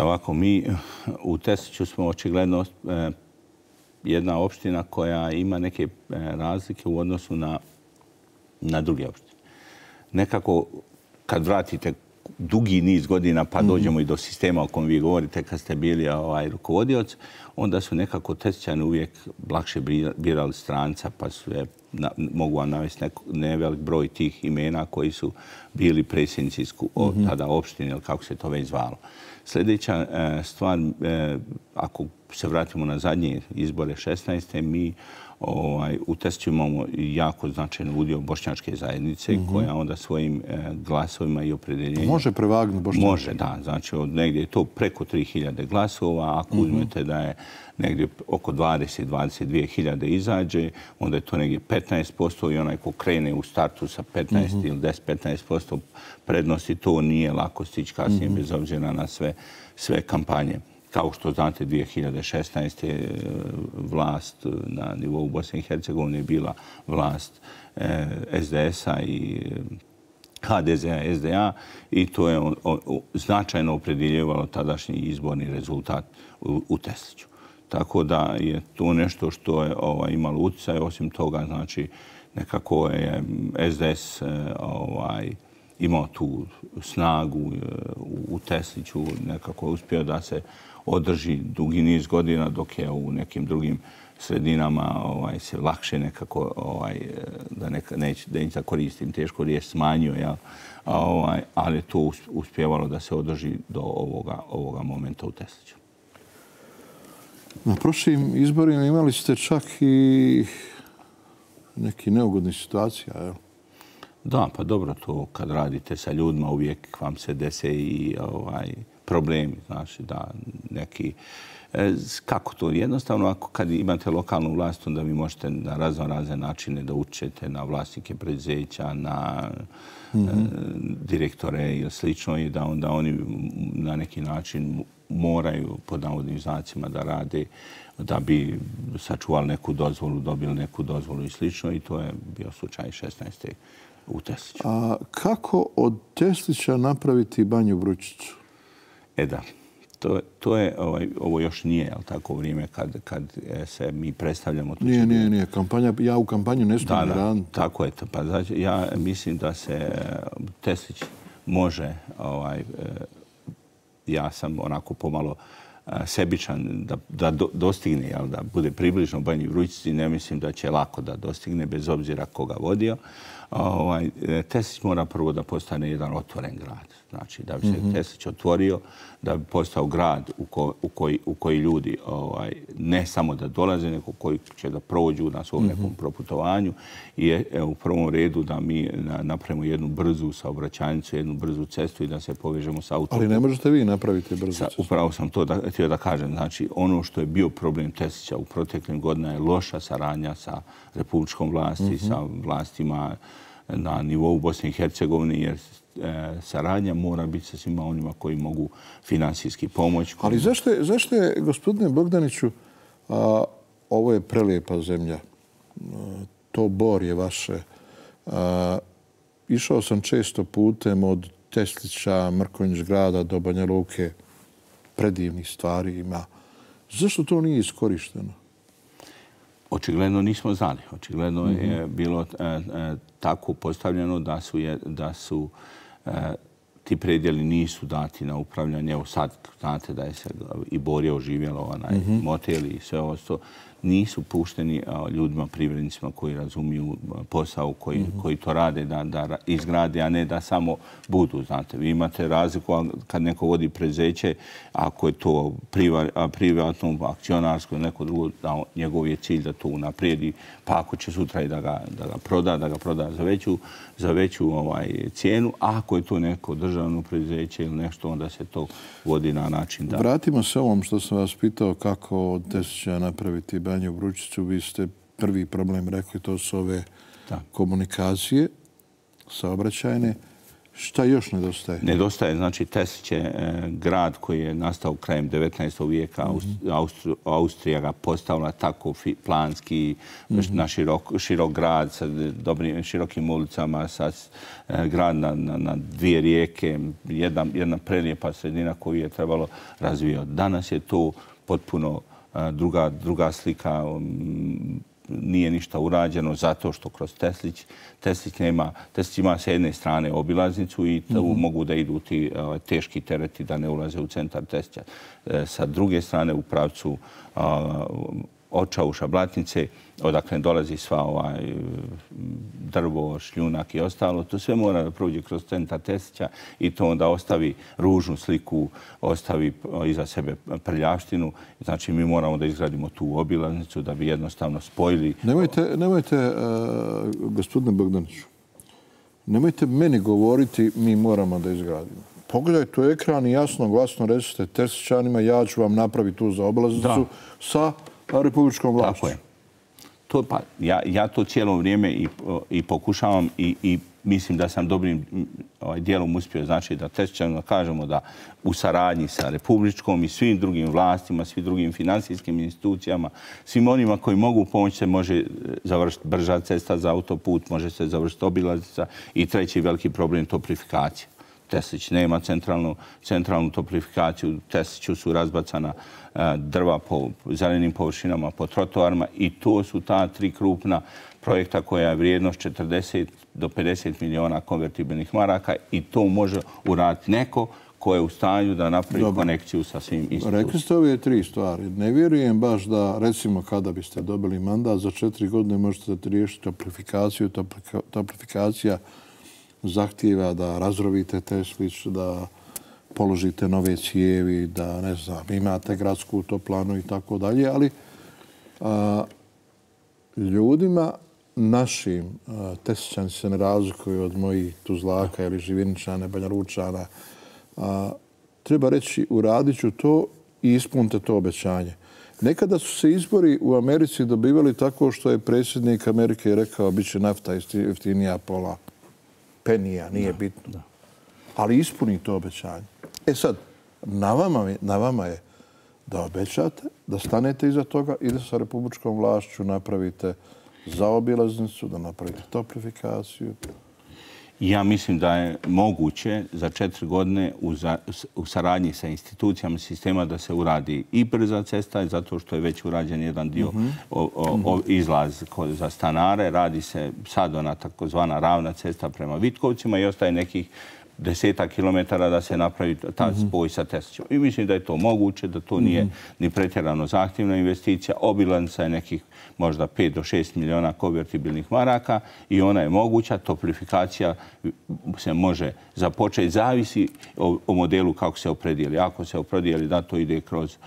Ovako, mi u Tesiću smo očigledno jedna opština koja ima neke razlike u odnosu na druge opštine. Nekako, kad vratite dugi niz godina, pa dođemo i do sistema o kojem vi govorite kad ste bili rukovodioc, onda su nekako Tesićani uvijek lakše birali stranca, pa su mogu vam navesti nevelik broj tih imena koji su bili predsjednici tada opštine, ili kako se to već zvalo. Sljedeća stvar, ako se vratimo na zadnje izbore 16. mi u Tesiću imamo jako značajan udio bošnjačke zajednice koja onda svojim glasovima i opredjeljenjem...
Može prevagnuti bošnjačke?
Može, da. Znači, negdje je to preko 3000 glasova. Ako uzmete da je negdje oko 20-22 hiljade izađe, onda je to negdje 15% i onaj ko krene u startu sa 15 ili 10-15% prednosti, to nije lako stići kasnije bez obzira na sve kampanje. Kao što znate, 2016. vlast na nivou Bosne i Hercegovine je bila vlast SDS-a i HDZ-a, SDA i to je značajno opredjeljivalo tadašnji izborni rezultat u Tesiću. Tako da je to nešto što je imalo utjecaj. Osim toga, znači, nekako je SDS imao tu snagu u Tesiću, nekako je uspio da se održi dugi niz godina, dok je u nekim drugim sredinama se lakše nekako, da neću koristim tešku riječ, smanjio, ali je to uspjevalo da se održi do ovoga momenta u Tesiću.
Na prošlim izborima imali ste čak i neki neugodni situacija, jel?
Da, pa dobro, to kad radite sa ljudima uvijek vam se dese i problemi, znači da neki... Kako to? Jednostavno, kad imate lokalnu vlast, onda vi možete na razne načine da učete na vlasnike preduzeća, na direktore ili slično i da onda oni na neki način moraju pod navodnim znacima da rade da bi sačuvali neku dozvolu, dobili neku dozvolu i slično i to je bio slučaj 16. u Tesiću.
A kako od Tesića napraviti Banju Vrućicu?
Da, to je, ovo još nije, jel tako, vrijeme kad se mi predstavljamo.
Nije. Ja u kampanju ne stavim raditi.
Tako je to. Pa znači, ja mislim da se Tesić može, ja sam onako pomalo sebičan da dostigne, jel, da bude približno Banji Vrućici, ne mislim da će lako da dostigne, bez obzira koga vodio. Tesić mora prvo da postane jedan otvoren grad. Znači, da bi se Tesić otvorio, da bi postao grad u koji ljudi ne samo da dolaze, nego koji će da prođu na svom nekom proputovanju i u prvom redu da mi napravimo jednu brzu saobraćajnicu, jednu brzu cestu i da se povežemo sa autoputom.
Ali ne možete vi napraviti brzu cestu.
Upravo sam to htio da kažem. Znači, ono što je bio problem Tesića u proteklim godinama je loša saradnja sa republičkom vlasti, sa vlastima na nivou Bosne i Hercegovine, jer saradnja mora biti sa svima onima koji mogu finansijski pomoći.
Ali zašto je, gospodine Bogdaniću, ovo je prelijepa zemlja, to Bor je vaše. Išao sam često putem od Teslića, Mrkonjić grada do Banja Luke, predivnih stvari ima. Zašto to nije iskorišteno?
Očigledno nismo znali. Očigledno je bilo tako postavljeno da su ti predjeli nisu dati na upravljanje. Evo sad znate da je se i Borje oživjelo, moteli i sve ovo. Nisu pušteni ljudima, privrednicima koji razumiju posao, koji to rade, da izgrade, a ne da samo budu. Znate, vi imate razliku kad neko vodi preduzeće, ako je to privatno, akcionarsko ili neko drugo, njegov je cilj da to unaprijedi, pa ako će sutra i da ga proda za veću cijenu, a ako je to neko državno preduzeće ili nešto, onda se to vodi na način da...
Vratimo se ovom što sam vas pitao kako od Tesića napraviti Banju Vrućicu. Vi ste prvi problem rekli, to su ove komunikacije saobraćajne. Šta još nedostaje?
Nedostaje, znači Tesić je grad koji je nastao krajem 19. vijeka. Austrija ga postavila tako planski, na širok grad sa širokim ulicama, sa grad na dvije rijeke, jedna prelijepa sredina koju je trebalo razvijati. Danas je to potpuno druga slika. Nije ništa urađeno zato što kroz Teslić ima sa jedne strane obilaznicu i tu mogu da idu ti teški tereti da ne ulaze u centar Teslića. Sa druge strane u pravcu Očauša, Blatnice, odakle dolazi sva drvo, šljunak i ostalo. To sve mora da prođe kroz centar Teslića i to onda ostavi ružnu sliku, ostavi iza sebe prljavštinu. Znači, mi moramo da izgradimo tu obilaznicu da bi jednostavno spojili...
Nemojte, gospodine Bogdaniću, nemojte meni govoriti mi moramo da izgradimo. Pogledajte u ekran i jasno, glasno recite Teslićanima, ja ću vam napraviti tu za obilaznicu sa republičkom vlašću.
Tako je. Ja to cijelo vrijeme i pokušavam i mislim da sam dobrim dijelom uspio. Znači da Teslićanima kažemo da u saradnji sa republičkom i svim drugim vlastima, svim drugim finansijskim institucijama, svim onima koji mogu pomoći se može završiti brža cesta za autoput, može se završiti obilaznica i treći veliki problem toplifikacija. Teslić nema centralnu toplifikaciju. U Tesliću su razbacana drva po zelenim površinama, po trotoarima i to su ta tri krupna projekta koja je vrijednost 40 do 50 miliona konvertibilnih maraka i to može uraditi neko ko je u stanju da napravi konekciju sa svim institucijama.
Rekli ste ove tri stvari. Ne vjerujem baš da, recimo, kada biste dobili mandat, za 4 godine možete riješiti toplifikaciju. Toplifikacija zahtijeva da razrovite Teslić, da položite nove cijevi, da, ne znam, imate gradsku toplanu i tako dalje, ali ljudima našim, Teslićani se ne razlikuju od mojih Tuzlaka ili Živiničana, Banjalučana, treba reći uradit ću to i ispunite to obećanje. Nekada su se izbori u Americi dobivali tako što je predsjednik Amerike rekao bit će nafta jeftinija pola penija, nije bitno. Ali ispuni to obećanje. E sad, na vama je da obećate, da stanete iza toga i da sa republičkom vlašću napravite zaobilaznicu, da napravite toplifikaciju.
Ja mislim da je moguće za 4 godine u saradnji sa institucijama sistema da se uradi i brza cesta, zato što je već urađen jedan dio izlaz za stanare. Radi se sad ona takozvana ravna cesta prema Vitkovcima i ostaje nekih 10 kilometara da se napravi ta spoj sa Teslićem. I mislim da je to moguće, da to nije ni pretjerano zahtjevna investicija. Obilaznica je nekih možda 5 do 6 miliona konvertibilnih maraka i ona je moguća. Toplifikacija se može započeti. Zavisi o modelu kako se opredijeli. Ako se opredijeli da to ide kroz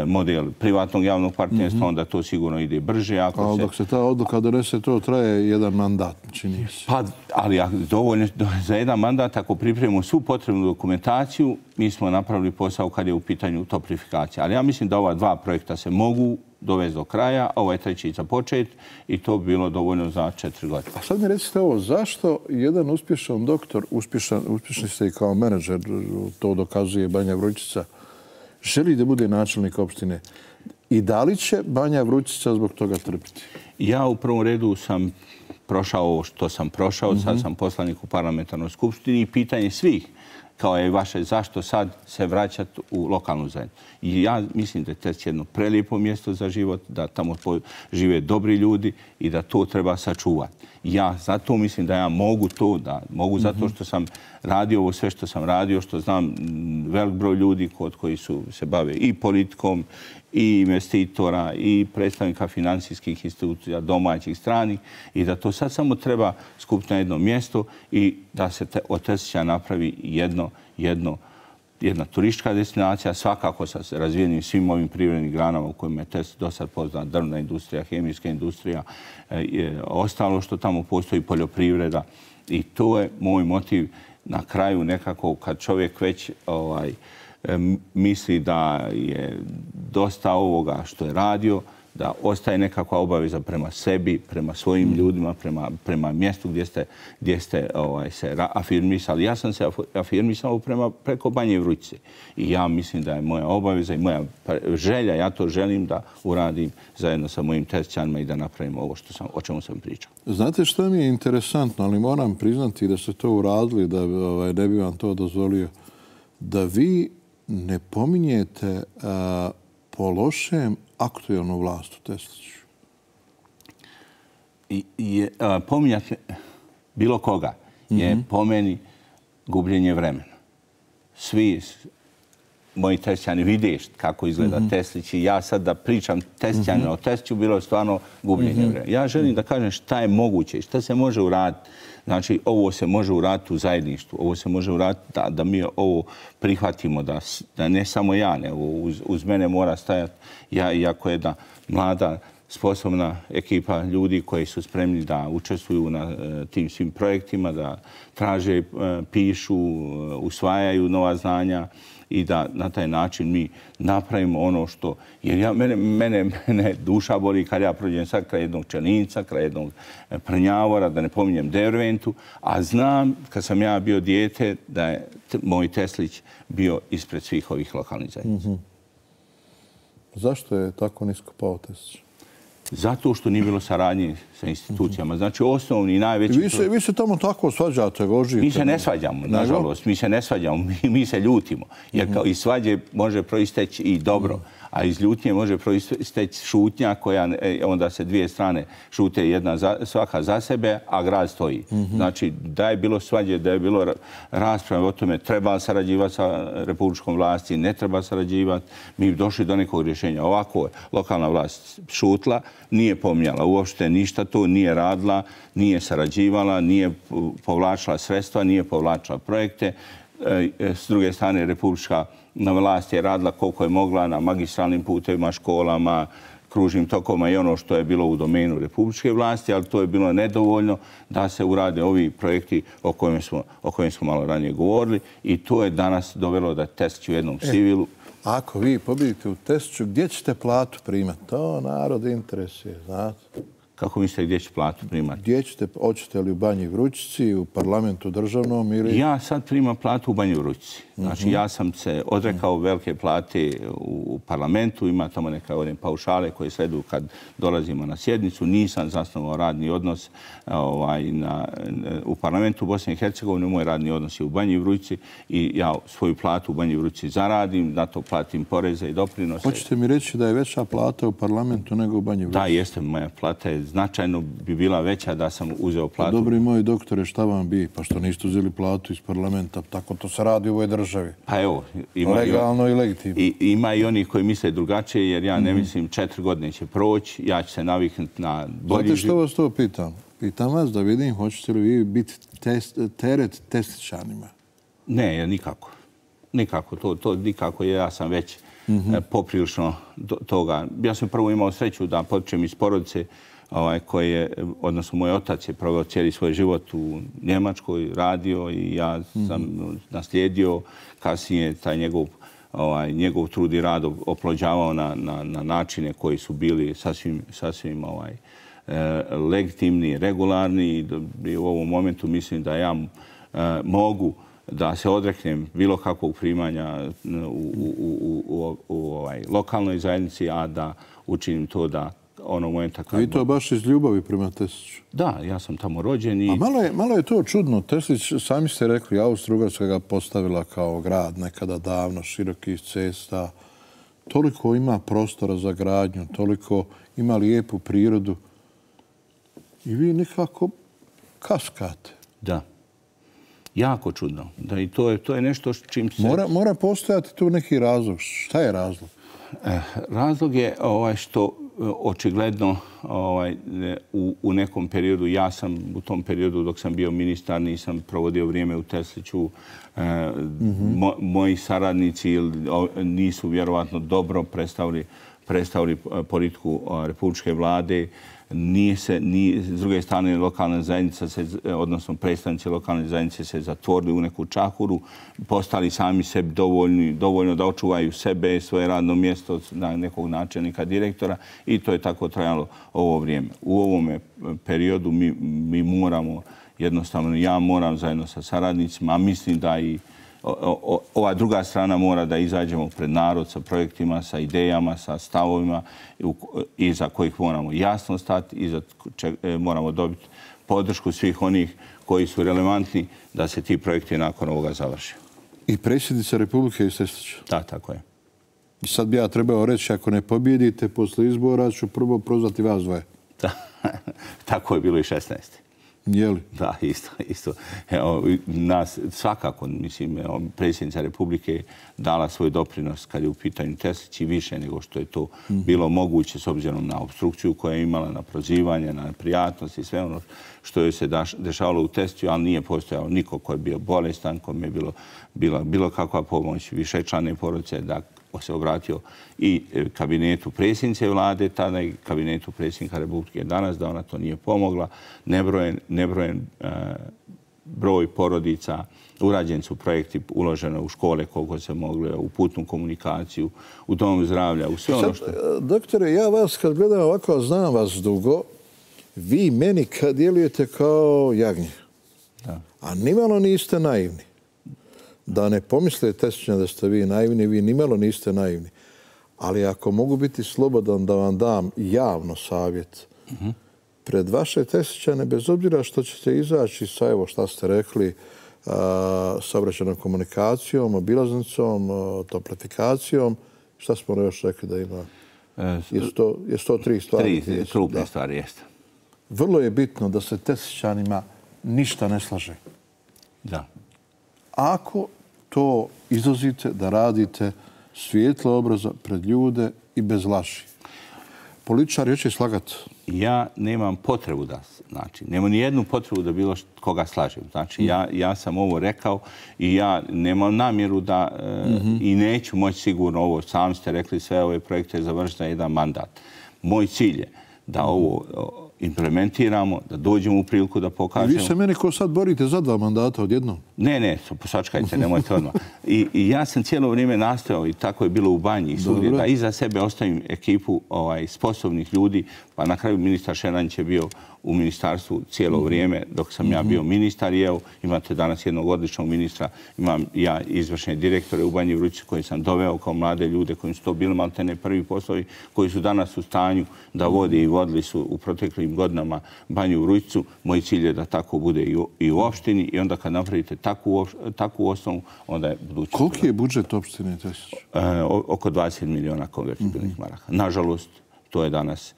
model privatnog javnog partnerstva, onda to sigurno ide brže.
Ali dok se ta odluka donese, to traje jedan mandat, čini se.
Pa, ali dovoljno za jedan mandat, ako pripremimo svu potrebnu dokumentaciju, mi smo napravili posao kad je u pitanju toplifikacija. Ali ja mislim da ova 2 projekta se mogu dovesti do kraja, a ovaj treći započeti i to bi bilo dovoljno za 4 godine.
A sad mi recite ovo, zašto jedan uspješan doktor, uspješni ste i kao menadžer, to dokazuje Banja Vrućica, želi da bude načelnik opštine i da li će Banja Vrućica zbog toga trpiti?
Ja u prvom redu sam prošao ovo što sam prošao, sad sam poslanik u parlamentarnoj skupštini i pitanje svih kao je vaše zašto sad se vraćati u lokalnu zajednicu. I ja mislim da je Tesić jedno prelijepo mjesto za život, da tamo žive dobri ljudi i da to treba sačuvati. Ja zato mislim da ja mogu to, da mogu zato što sam radio ovo sve što sam radio, što znam velik broj ljudi koji se bave i politikom, i investitora, i predstavnika financijskih institucija, domaćih, stranih, i da to sad samo treba skupiti na jedno mjesto i da se od Tesića napravi jedna turistička destinacija, svakako sa razvijenim svim ovim privrednim granama u kojima je Tesić do sad poznat, drvna industrija, hemijska industrija, ostalo što tamo postoji, poljoprivreda. I to je moj motiv na kraju nekako kad čovjek već misli da je dosta ovoga što je radio, da ostaje nekakva obaveza prema sebi, prema svojim ljudima, prema mjestu gdje ste se afirmisali. Ja sam se afirmisao preko Banje Vrućice. I ja mislim da je moja obaveza i moja želja, ja to želim da uradim zajedno sa mojim Tesićanima i da napravim ovo o čemu sam pričao.
Znate što mi je interesantno, ali moram priznati da ste to uradili, da ne bi vam to dozvolio, da vi ne pominjete po lošem aktualnu vlast u Tesliću.
Pominjati bilo koga je po meni gubljenje vremena. Svi moji Teslićani vide kako izgleda Teslić i ja sad da pričam Teslićanima o Tesliću bilo je stvarno gubljenje vremena. Ja želim da kažem šta je moguće i šta se može uraditi. Znači, ovo se može uraditi u zajedništvu, ovo se može uraditi da mi ovo prihvatimo, da ne samo ja, nego uz mene mora stajati ja, iako je jedna mlada, sposobna ekipa ljudi koji su spremni da učestvuju na tim svim projektima, da traže, pišu, usvajaju nova znanja i da na taj način mi napravimo ono što... Jer mene duša boli kad ja prođem sad kraj jednog Čelinca, kraj jednog Prnjavora, da ne pominjem Derventu, a znam kad sam ja bio dijete da je moj Teslić bio ispred svih ovih lokalnih zajednica.
Zašto je tako nisko pao Teslić?
Zato što nije bilo saradnje sa institucijama. Znači, osnovni i najveći...
Vi se tamo tako svađate, gožite.
Mi se ne svađamo, nažalost. Mi se ne svađamo, mi se ljutimo. Jer kao iz svađe može proisteći i dobro, a iz ljutnje može proisteći šutnja koja onda se dvije strane šute svaka za sebe, a grad stoji. Znači, da je bilo svađe, da je bilo rasprave o tome treba sarađivati sa republičkom vlasti, ne treba sarađivati, mi bi došli do nekog rješenja. Ovako je lokalna vlast šutla, nije pominjala uopšte ništa to, nije radila, nije sarađivala, nije povlačila sredstva, nije povlačila projekte. S druge strane, republička vlast je radila koliko je mogla na magistralnim putevima, školama, kružnim tokovima i ono što je bilo u domenu republičke vlasti, ali to je bilo nedovoljno da se urade ovi projekti o kojima smo malo ranije govorili i to je danas dovelo da Teslić u jednom sivilu.
Ako vi pobjedite u Tesliću, gdje ćete platu primati? To narod interesuje, znate.
Kako mislite gdje će platu primati?
Gdje ćete, hoćete li u Banji Vrućici, u parlamentu državnom ili...
Ja sad primam platu u Banji Vrućici. Znači, ja sam se odrekao velike plate u parlamentu, ima tamo neka paušale koje sleduju kad dolazimo na sjednicu. Nisam zasnovao radni odnos u parlamentu u Bosni i Hercegovini. Moj radni odnos je u Banji Vrućici i ja svoju platu u Banji Vrućici zaradim, na to platim poreze i doprinose.
Hoćete mi reći da je veća plata u parlamentu nego u Banji Vrućici?
Da, jeste. Moja plata je značajno bi bila veća da sam uzeo platu.
Dobri moji doktore, šta vam bi? Pa što niste uzeli platu iz parlamenta? Tako to se radi u ovoj državi.
Pa evo.
Legalno i legitimno.
Ima i onih koji misle drugačije, jer ja ne mislim 4 godine će proći, ja ću se naviknuti na bolji život.
Znate što vas to pitam? Pitam vas da vidim, hoćete li vi biti teret Teslićanima?
Ne, nikako. Nikako. To nikako. Ja sam već poprilično toga. Ja sam prvo imao sreću da potičem iz porodice koji je, odnosno moj otac je proveo cijeli svoj život u Njemačkoj, radio i ja sam naslijedio kasnije taj njegov trud i rad oplođavao na načine koji su bili sasvim legitimni, regularni i u ovom momentu mislim da ja mogu da se odreknem bilo kakvog primanja u lokalnoj zajednici, a da učinim to da onog momenta kad...
I to baš iz ljubavi prema Tesliću?
Da, ja sam tamo rođen i...
A malo je to čudno. Teslić, sami ste rekli, Austro-Ugarska ga postavila kao grad nekada davno, širokih cesta. Toliko ima prostora za gradnju, toliko ima lijepu prirodu. I vi nekako kaskate.
Da. Jako čudno. Da, i to je nešto s čim se...
Mora postojati tu neki razlog. Šta je razlog?
Razlog je što očigledno u nekom periodu, ja sam u tom periodu dok sam bio ministar, nisam provodio vrijeme u Tesliću. Moji saradnici nisu vjerovatno dobro predstavili politiku republičke vlade. S druge strane, lokalna zajednica, odnosno predstavnici lokalne zajednice se zatvorili u neku čahuru, postali sami sebi dovoljno da očuvaju sebe, svoje radno mjesto na nekog načelnika, direktora i to je tako trajalo ovo vrijeme. U ovome periodu mi moramo, jednostavno ja moram zajedno sa saradnicima, a mislim da i ova druga strana mora da izađemo pred narod sa projektima, sa idejama, sa stavovima iza kojih moramo jasno stati, iza moramo dobiti podršku svih onih koji su relevantni da se ti projekti nakon ovoga završe.
I predsjednica Republike iz Teslića?
Da, tako je.
I sad bi ja trebao reći, ako ne pobjedite posle izbora, ću prvo prozvati vas dvoje.
Da, tako je bilo i 16.
Je li?
Da, isto. Nas svakako, mislim, predsjednica Republike dala svoj doprinos kad je u pitanju Teslić i više nego što je to bilo moguće s obzirom na obstrukciju koja je imala, na prozivanje, na prijatnost i sve ono što je se dešavalo u Tesliću, ali nije postojao niko ko je bio bolestan, kome je bilo kakva pomoć, višečlane porodice, da se obratio i kabinetu predsjednice vlade, tada i kabinetu predsjednika Republike danas, da ona to nije pomogla. Nebrojen broj porodica, urađeni su projekti, uloženo u škole koliko se moglo, u putnu komunikaciju, u dom zdravlja, u sve ono što...
Doktore, ja vas kad gledam ovako, znam vas dugo, vi meni kad djelujete kao jagnje. A nimalo niste naivni. Da ne pomisle Teslićani da ste vi naivni, vi nimalo niste naivni. Ali ako mogu biti slobodan da vam dam javno savjet, pred vaše Teslićane, bez obzira što ćete izaći sa, evo šta ste rekli, saobraćajnom komunikacijom, obilaznicom, toplifikacijom, šta smo još rekli da ima? Je 103 stvari?
3 krupne stvari, jeste.
Vrlo je bitno da se Teslićanima ništa ne slaže.
Da.
Ako to izlazite da radite svijetlo obraza pred ljude i bez laži. Političar će slagati.
Ja nemam potrebu da, znači, nemam ni jednu potrebu da bilo koga slažem. Znači, ja sam ovo rekao i ja nemam namjeru da i neću moći sigurno ovo, sami ste rekli, sve ove projekte završiti na jedan mandat. Moj cilj je da ovo implementiramo, da dođemo u priliku da pokažemo...
I vi se meni ko sad borite za 2 mandata odjednom?
Ne, posačkajte, nemojte odmah. I ja sam cijelo vrijeme nastojao, i tako je bilo u Banji i svugdje, da iza sebe ostavim ekipu sposobnih ljudi, pa na kraju ministar Šeranić je bio u ministarstvu cijelo vrijeme dok sam ja bio ministar i evo, imate danas jednog odličnog ministra, imam ja izvršne direktore u Banji Vrućici koji sam doveo kao mlade ljude koji su to bili maltene prvi poslovi, koji su danas u stanju da vode i vodili su u proteklim godinama Banju Vrućicu. Moj cilj je da tako bude i u opštini i onda kad napravite takvu osnovu, onda je budućnost.
Koliki je budžet opštine Teslić?
Oko 20 miliona konvertibilnih maraka. Nažalost, to je danas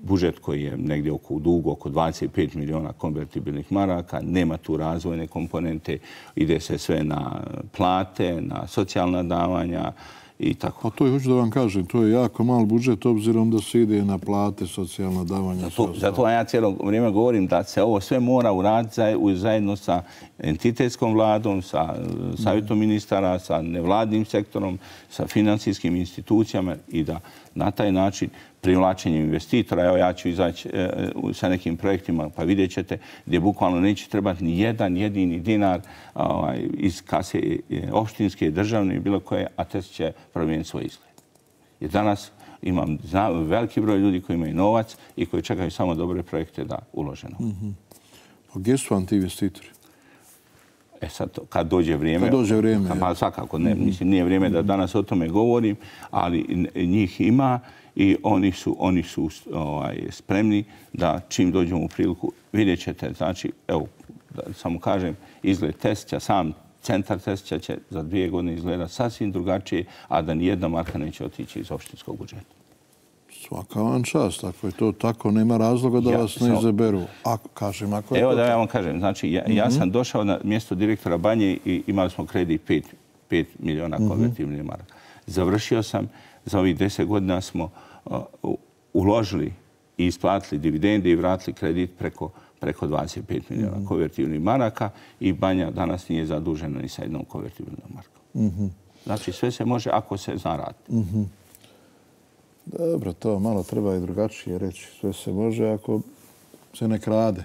budžet koji je negdje u dugu oko 25 miliona konvertibilnih maraka. Nema tu razvojne komponente. Ide se sve na plate, na socijalna davanja i tako.
Pa to je, hoću da vam kažem, to je jako mal budžet obzirom da se ide na plate, socijalna davanja.
Zato ja cijelo vrijeme govorim da se ovo sve mora uraditi zajedno sa entitetskom vladom, sa savjetom ministara, sa nevladnim sektorom, sa financijskim institucijama i da na taj način privlačenjem investitora, evo ja ću izaći sa nekim projektima pa vidjet ćete gdje bukvalno neće trebati ni jedan jedini dinar iz kase opštinske, državne i bilo koje, a Teslić će promijeniti svoj izgled. Jer danas imam veliki broj ljudi koji imaju novac i koji čekaju samo dobre projekte da uloženo.
Pa gdje su vam ti investitori?
Sad, kad dođe vrijeme...
Kad dođe vrijeme.
Pa svakako, ne, mislim, nije vrijeme da danas o tome govorim, ali njih ima i oni su spremni da čim dođemo u priliku, vidjet ćete, znači, evo, samo kažem, izgled Tesića, sam centar Tesića će za 2 godine izgledati sasvim drugačije, a da nijedna marka neće otići iz opštinskog budžeta.
Svaka vam čast. Ako je to tako, nema razloga da vas ne izaberu. Kažem, ako je
evo
to
da ja vam kažem. Znači, ja sam došao na mjesto direktora Banje i imali smo kredit 5 miliona konvertibilnih maraka. Završio sam, za ovih 10 godina smo uložili i isplatili dividende i vratili kredit preko 25 miliona konvertibilnih maraka i Banja danas nije zadužena ni sa jednom konvertibilnom markom. Znači, sve se može ako se zna raditi.
Dobro, to malo treba i drugačije reći. Sve se može ako se ne krade.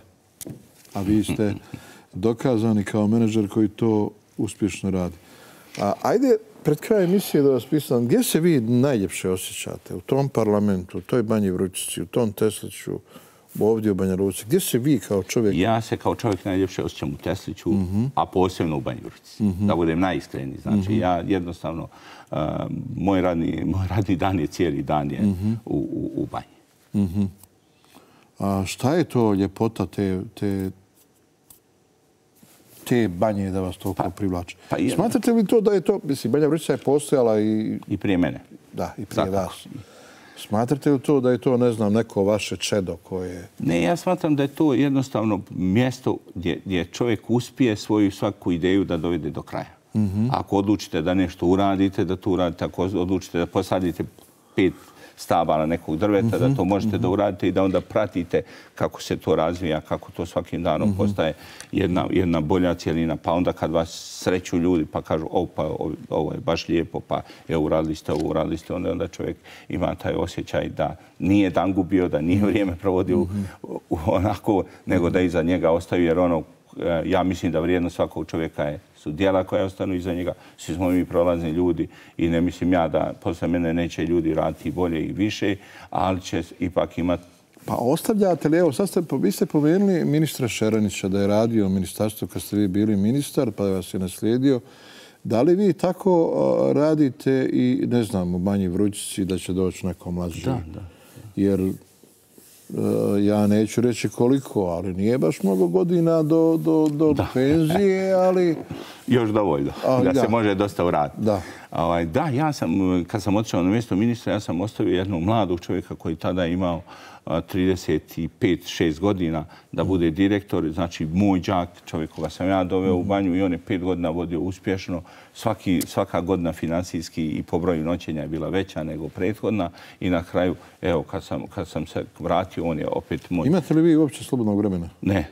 A vi ste dokazani kao menadžer koji to uspješno radi. Ajde, pred kraj emisije da vas pitam, gdje se vi najljepše osjećate? U tom parlamentu, u toj Banji Vrućici, u tom Tesliću, ovdje u Banja Luci? Gdje se vi kao čovjek...
Ja se kao čovjek najljepše osjećam u Tesliću, a posebno u Banji Vrućici. Da budem najiskreniji. Znači, ja jednostavno... Moj radni dan je cijeli dan je u Banji.
A šta je to ljepota te Banje da vas toliko privlači? Smatrate li to da je to... Mislim, Banja Vrućica je postojala i...
I prije mene.
Da, i prije vas. Smatrate li to da je to, ne znam, neko vaše čedo koje...
Ne, ja smatram da je to jednostavno mjesto gdje čovjek uspije svoju svaku ideju da dovede do kraja. Ako odlučite da nešto uradite, da to uradite. Ako odlučite da posadite 5 stabala nekog drveta, da to možete da uradite i da onda pratite kako se to razvija, kako to svakim danom postaje jedna bolja cijelina. Pa onda kad vas sreću ljudi pa kažu ovo je baš lijepo, pa uradili ste ovo, uradili ste onda čovjek ima taj osjećaj da nije dan gubio, da nije vrijeme provodio onako, nego da iza njega ostaju, jer ja mislim da vrijednost svakog čovjeka su djela koja ostanu iza njega. Svi smo mi prolazni ljudi i ne mislim ja da posle mene neće ljudi raditi bolje i više, ali će ipak imati...
Pa ostavljate li, evo sad vi ste pomenuli ministra Šeranića da je radio u ministarstvu kad ste vi bili ministar, pa vas je naslijedio. Da li vi tako radite i, ne znam, u Banji Vrućici da će doći neko mlađi?
Da.
Jer ja neću reći koliko, ali nije baš mnogo godina do penzije, ali...
Još dovoljno, da se može dosta uraditi. Da, ja sam, kad sam otišao na mjesto ministra, ja sam ostavio jednog mladog čovjeka koji tada imao 35-6 godina da bude direktor. Znači, moj đak, čovjek koga sam ja doveo u Banju i on je 5 godina vodio uspješno. Svaka godina financijski i po broju noćenja je bila veća nego prethodna. I na kraju, evo, kad sam se vratio, on je opet moj...
Imate li vi uopće slobodnog vremena?
Ne.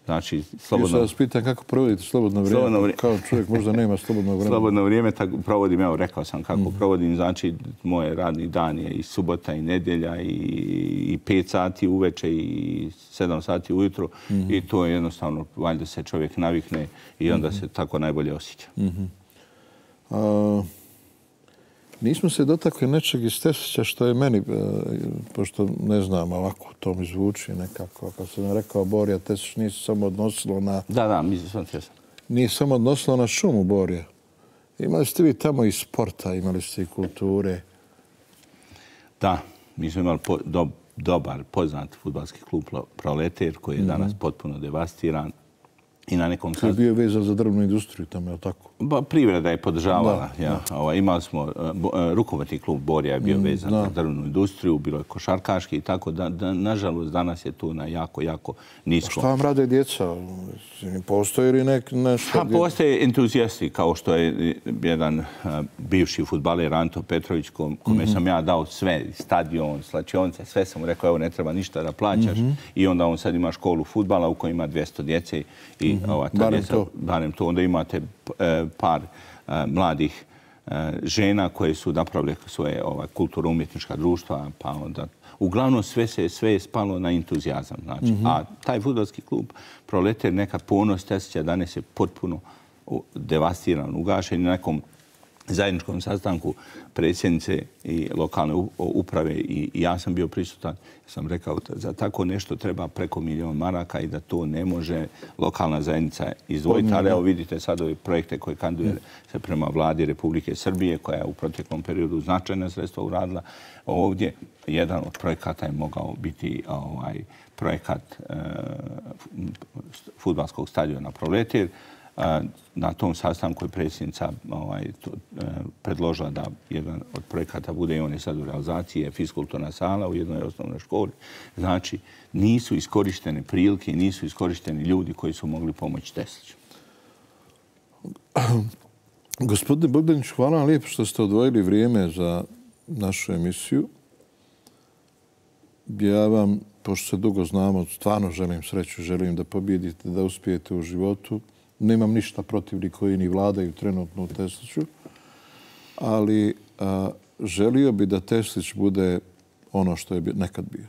Znači, slobodno...
Ja vas pitam kako provodite slobodno vrijeme. Kao čovjek možda nema slobodnog vremena.
Slobodno vrijeme provodim, evo, rekao sam kako provodim. Znači, moj radni dan je i subota i nedjelja i 5 sati uveče i 7 sati ujutro. I to je jednostavno, valjda se čovjek navikne i onda se tako najbolje osjeća.
Nismo se dotakli nečeg iz Tesića što je meni, pošto ne znam, ovako to mi zvuči nekako. Kad sam rekao Borja, Tesić nije samo odnosilo na...
Da, mislim sam tjesan.
Nije samo odnosilo na šumu Borja. Imali ste vi tamo i sporta, imali ste i kulture.
Da, mi smo imali dobar, poznat fudbalski klub Proletar koji je danas potpuno devastiran. I na nekom...
To je bio vezan za drvnu industriju tamo, je li tako?
Privreda je podržavala. Imali smo, rukometni klub Borja je bio vezan za drvnu industriju, bilo je košarkaški i tako. Nažalost, danas je tu na jako nisko.
Šta vam rade djeca? Postoje li nešto?
Postoje entuzijasti, kao što je jedan bivši fudbaler Anto Petrović, kome sam ja dao sve, stadion, slačionice, sve sam mu rekao, evo, ne treba ništa da plaćaš. I onda on sad ima školu fudbala u kojoj ima 200 djece. Barem to. Onda imate par mladih žena koje su napravile svoje kulturno-umjetnička društva, pa onda... Uglavnom sve je spalo na entuzijazam. A taj fudbalski klub Proletar, neka ponos Tesića danas je potpuno devastiran, ugašen. Na nekom zajedničkom sastanku predsjednice i lokalne uprave i ja sam bio prisutan. Sam rekao da za tako nešto treba preko 1 milion maraka i da to ne može lokalna zajednica izdvojiti. Ali evo vidite sad ove projekte koje kandiduje se prema vladi Republike Srbije, koja je u proteklom periodu značajna sredstva uradila. Ovdje jedan od projekata je mogao biti projekat fudbalskog stadiona Proletir. Na tom sastanku je predsjednica predložila da jedan od projekata bude i on je sad u realizaciji, je fiskulturna sala u jednoj osnovnoj školi. Znači, nisu iskorištene prilike i nisu iskorišteni ljudi koji su mogli pomoći Tesliću.
Gospodine Bogdanić, hvala vam lijepo što ste odvojili vrijeme za našu emisiju. Ja vam, pošto se dugo znamo, stvarno želim sreću, želim da pobjedite, da uspijete u životu. Nemam ništa protiv ni koji ni vladaju trenutno u Tesliću, ali želio bi da Teslić bude ono što je nekad bio.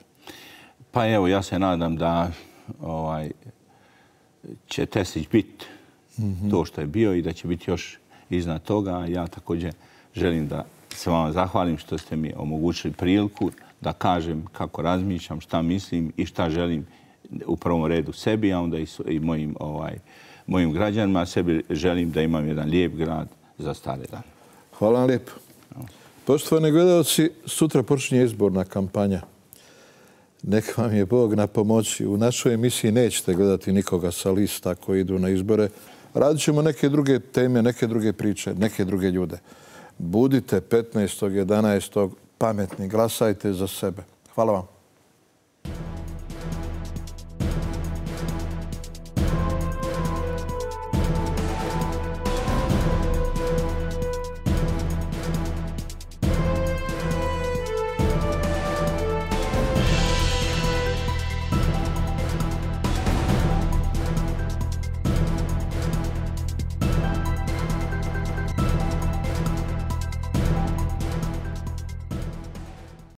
Pa evo, ja se nadam da će Teslić biti to što je bio i da će biti još iznad toga. Ja također želim da se vam zahvalim što ste mi omogućili priliku da kažem kako razmišljam, šta mislim i šta želim u prvom redu sebi, a onda i mojim građanima. Sebi želim da imam jedan lijep grad za stare dane.
Hvala vam lijepo. Poštovani gledalci, sutra počinje izborna kampanja. Neka vam je Bog na pomoći. U našoj emisiji nećete gledati nikoga sa lista koji idu na izbore. Radit ćemo neke druge teme, neke druge priče, neke druge ljude. Budite 15.11. pametni, glasajte za sebe. Hvala vam.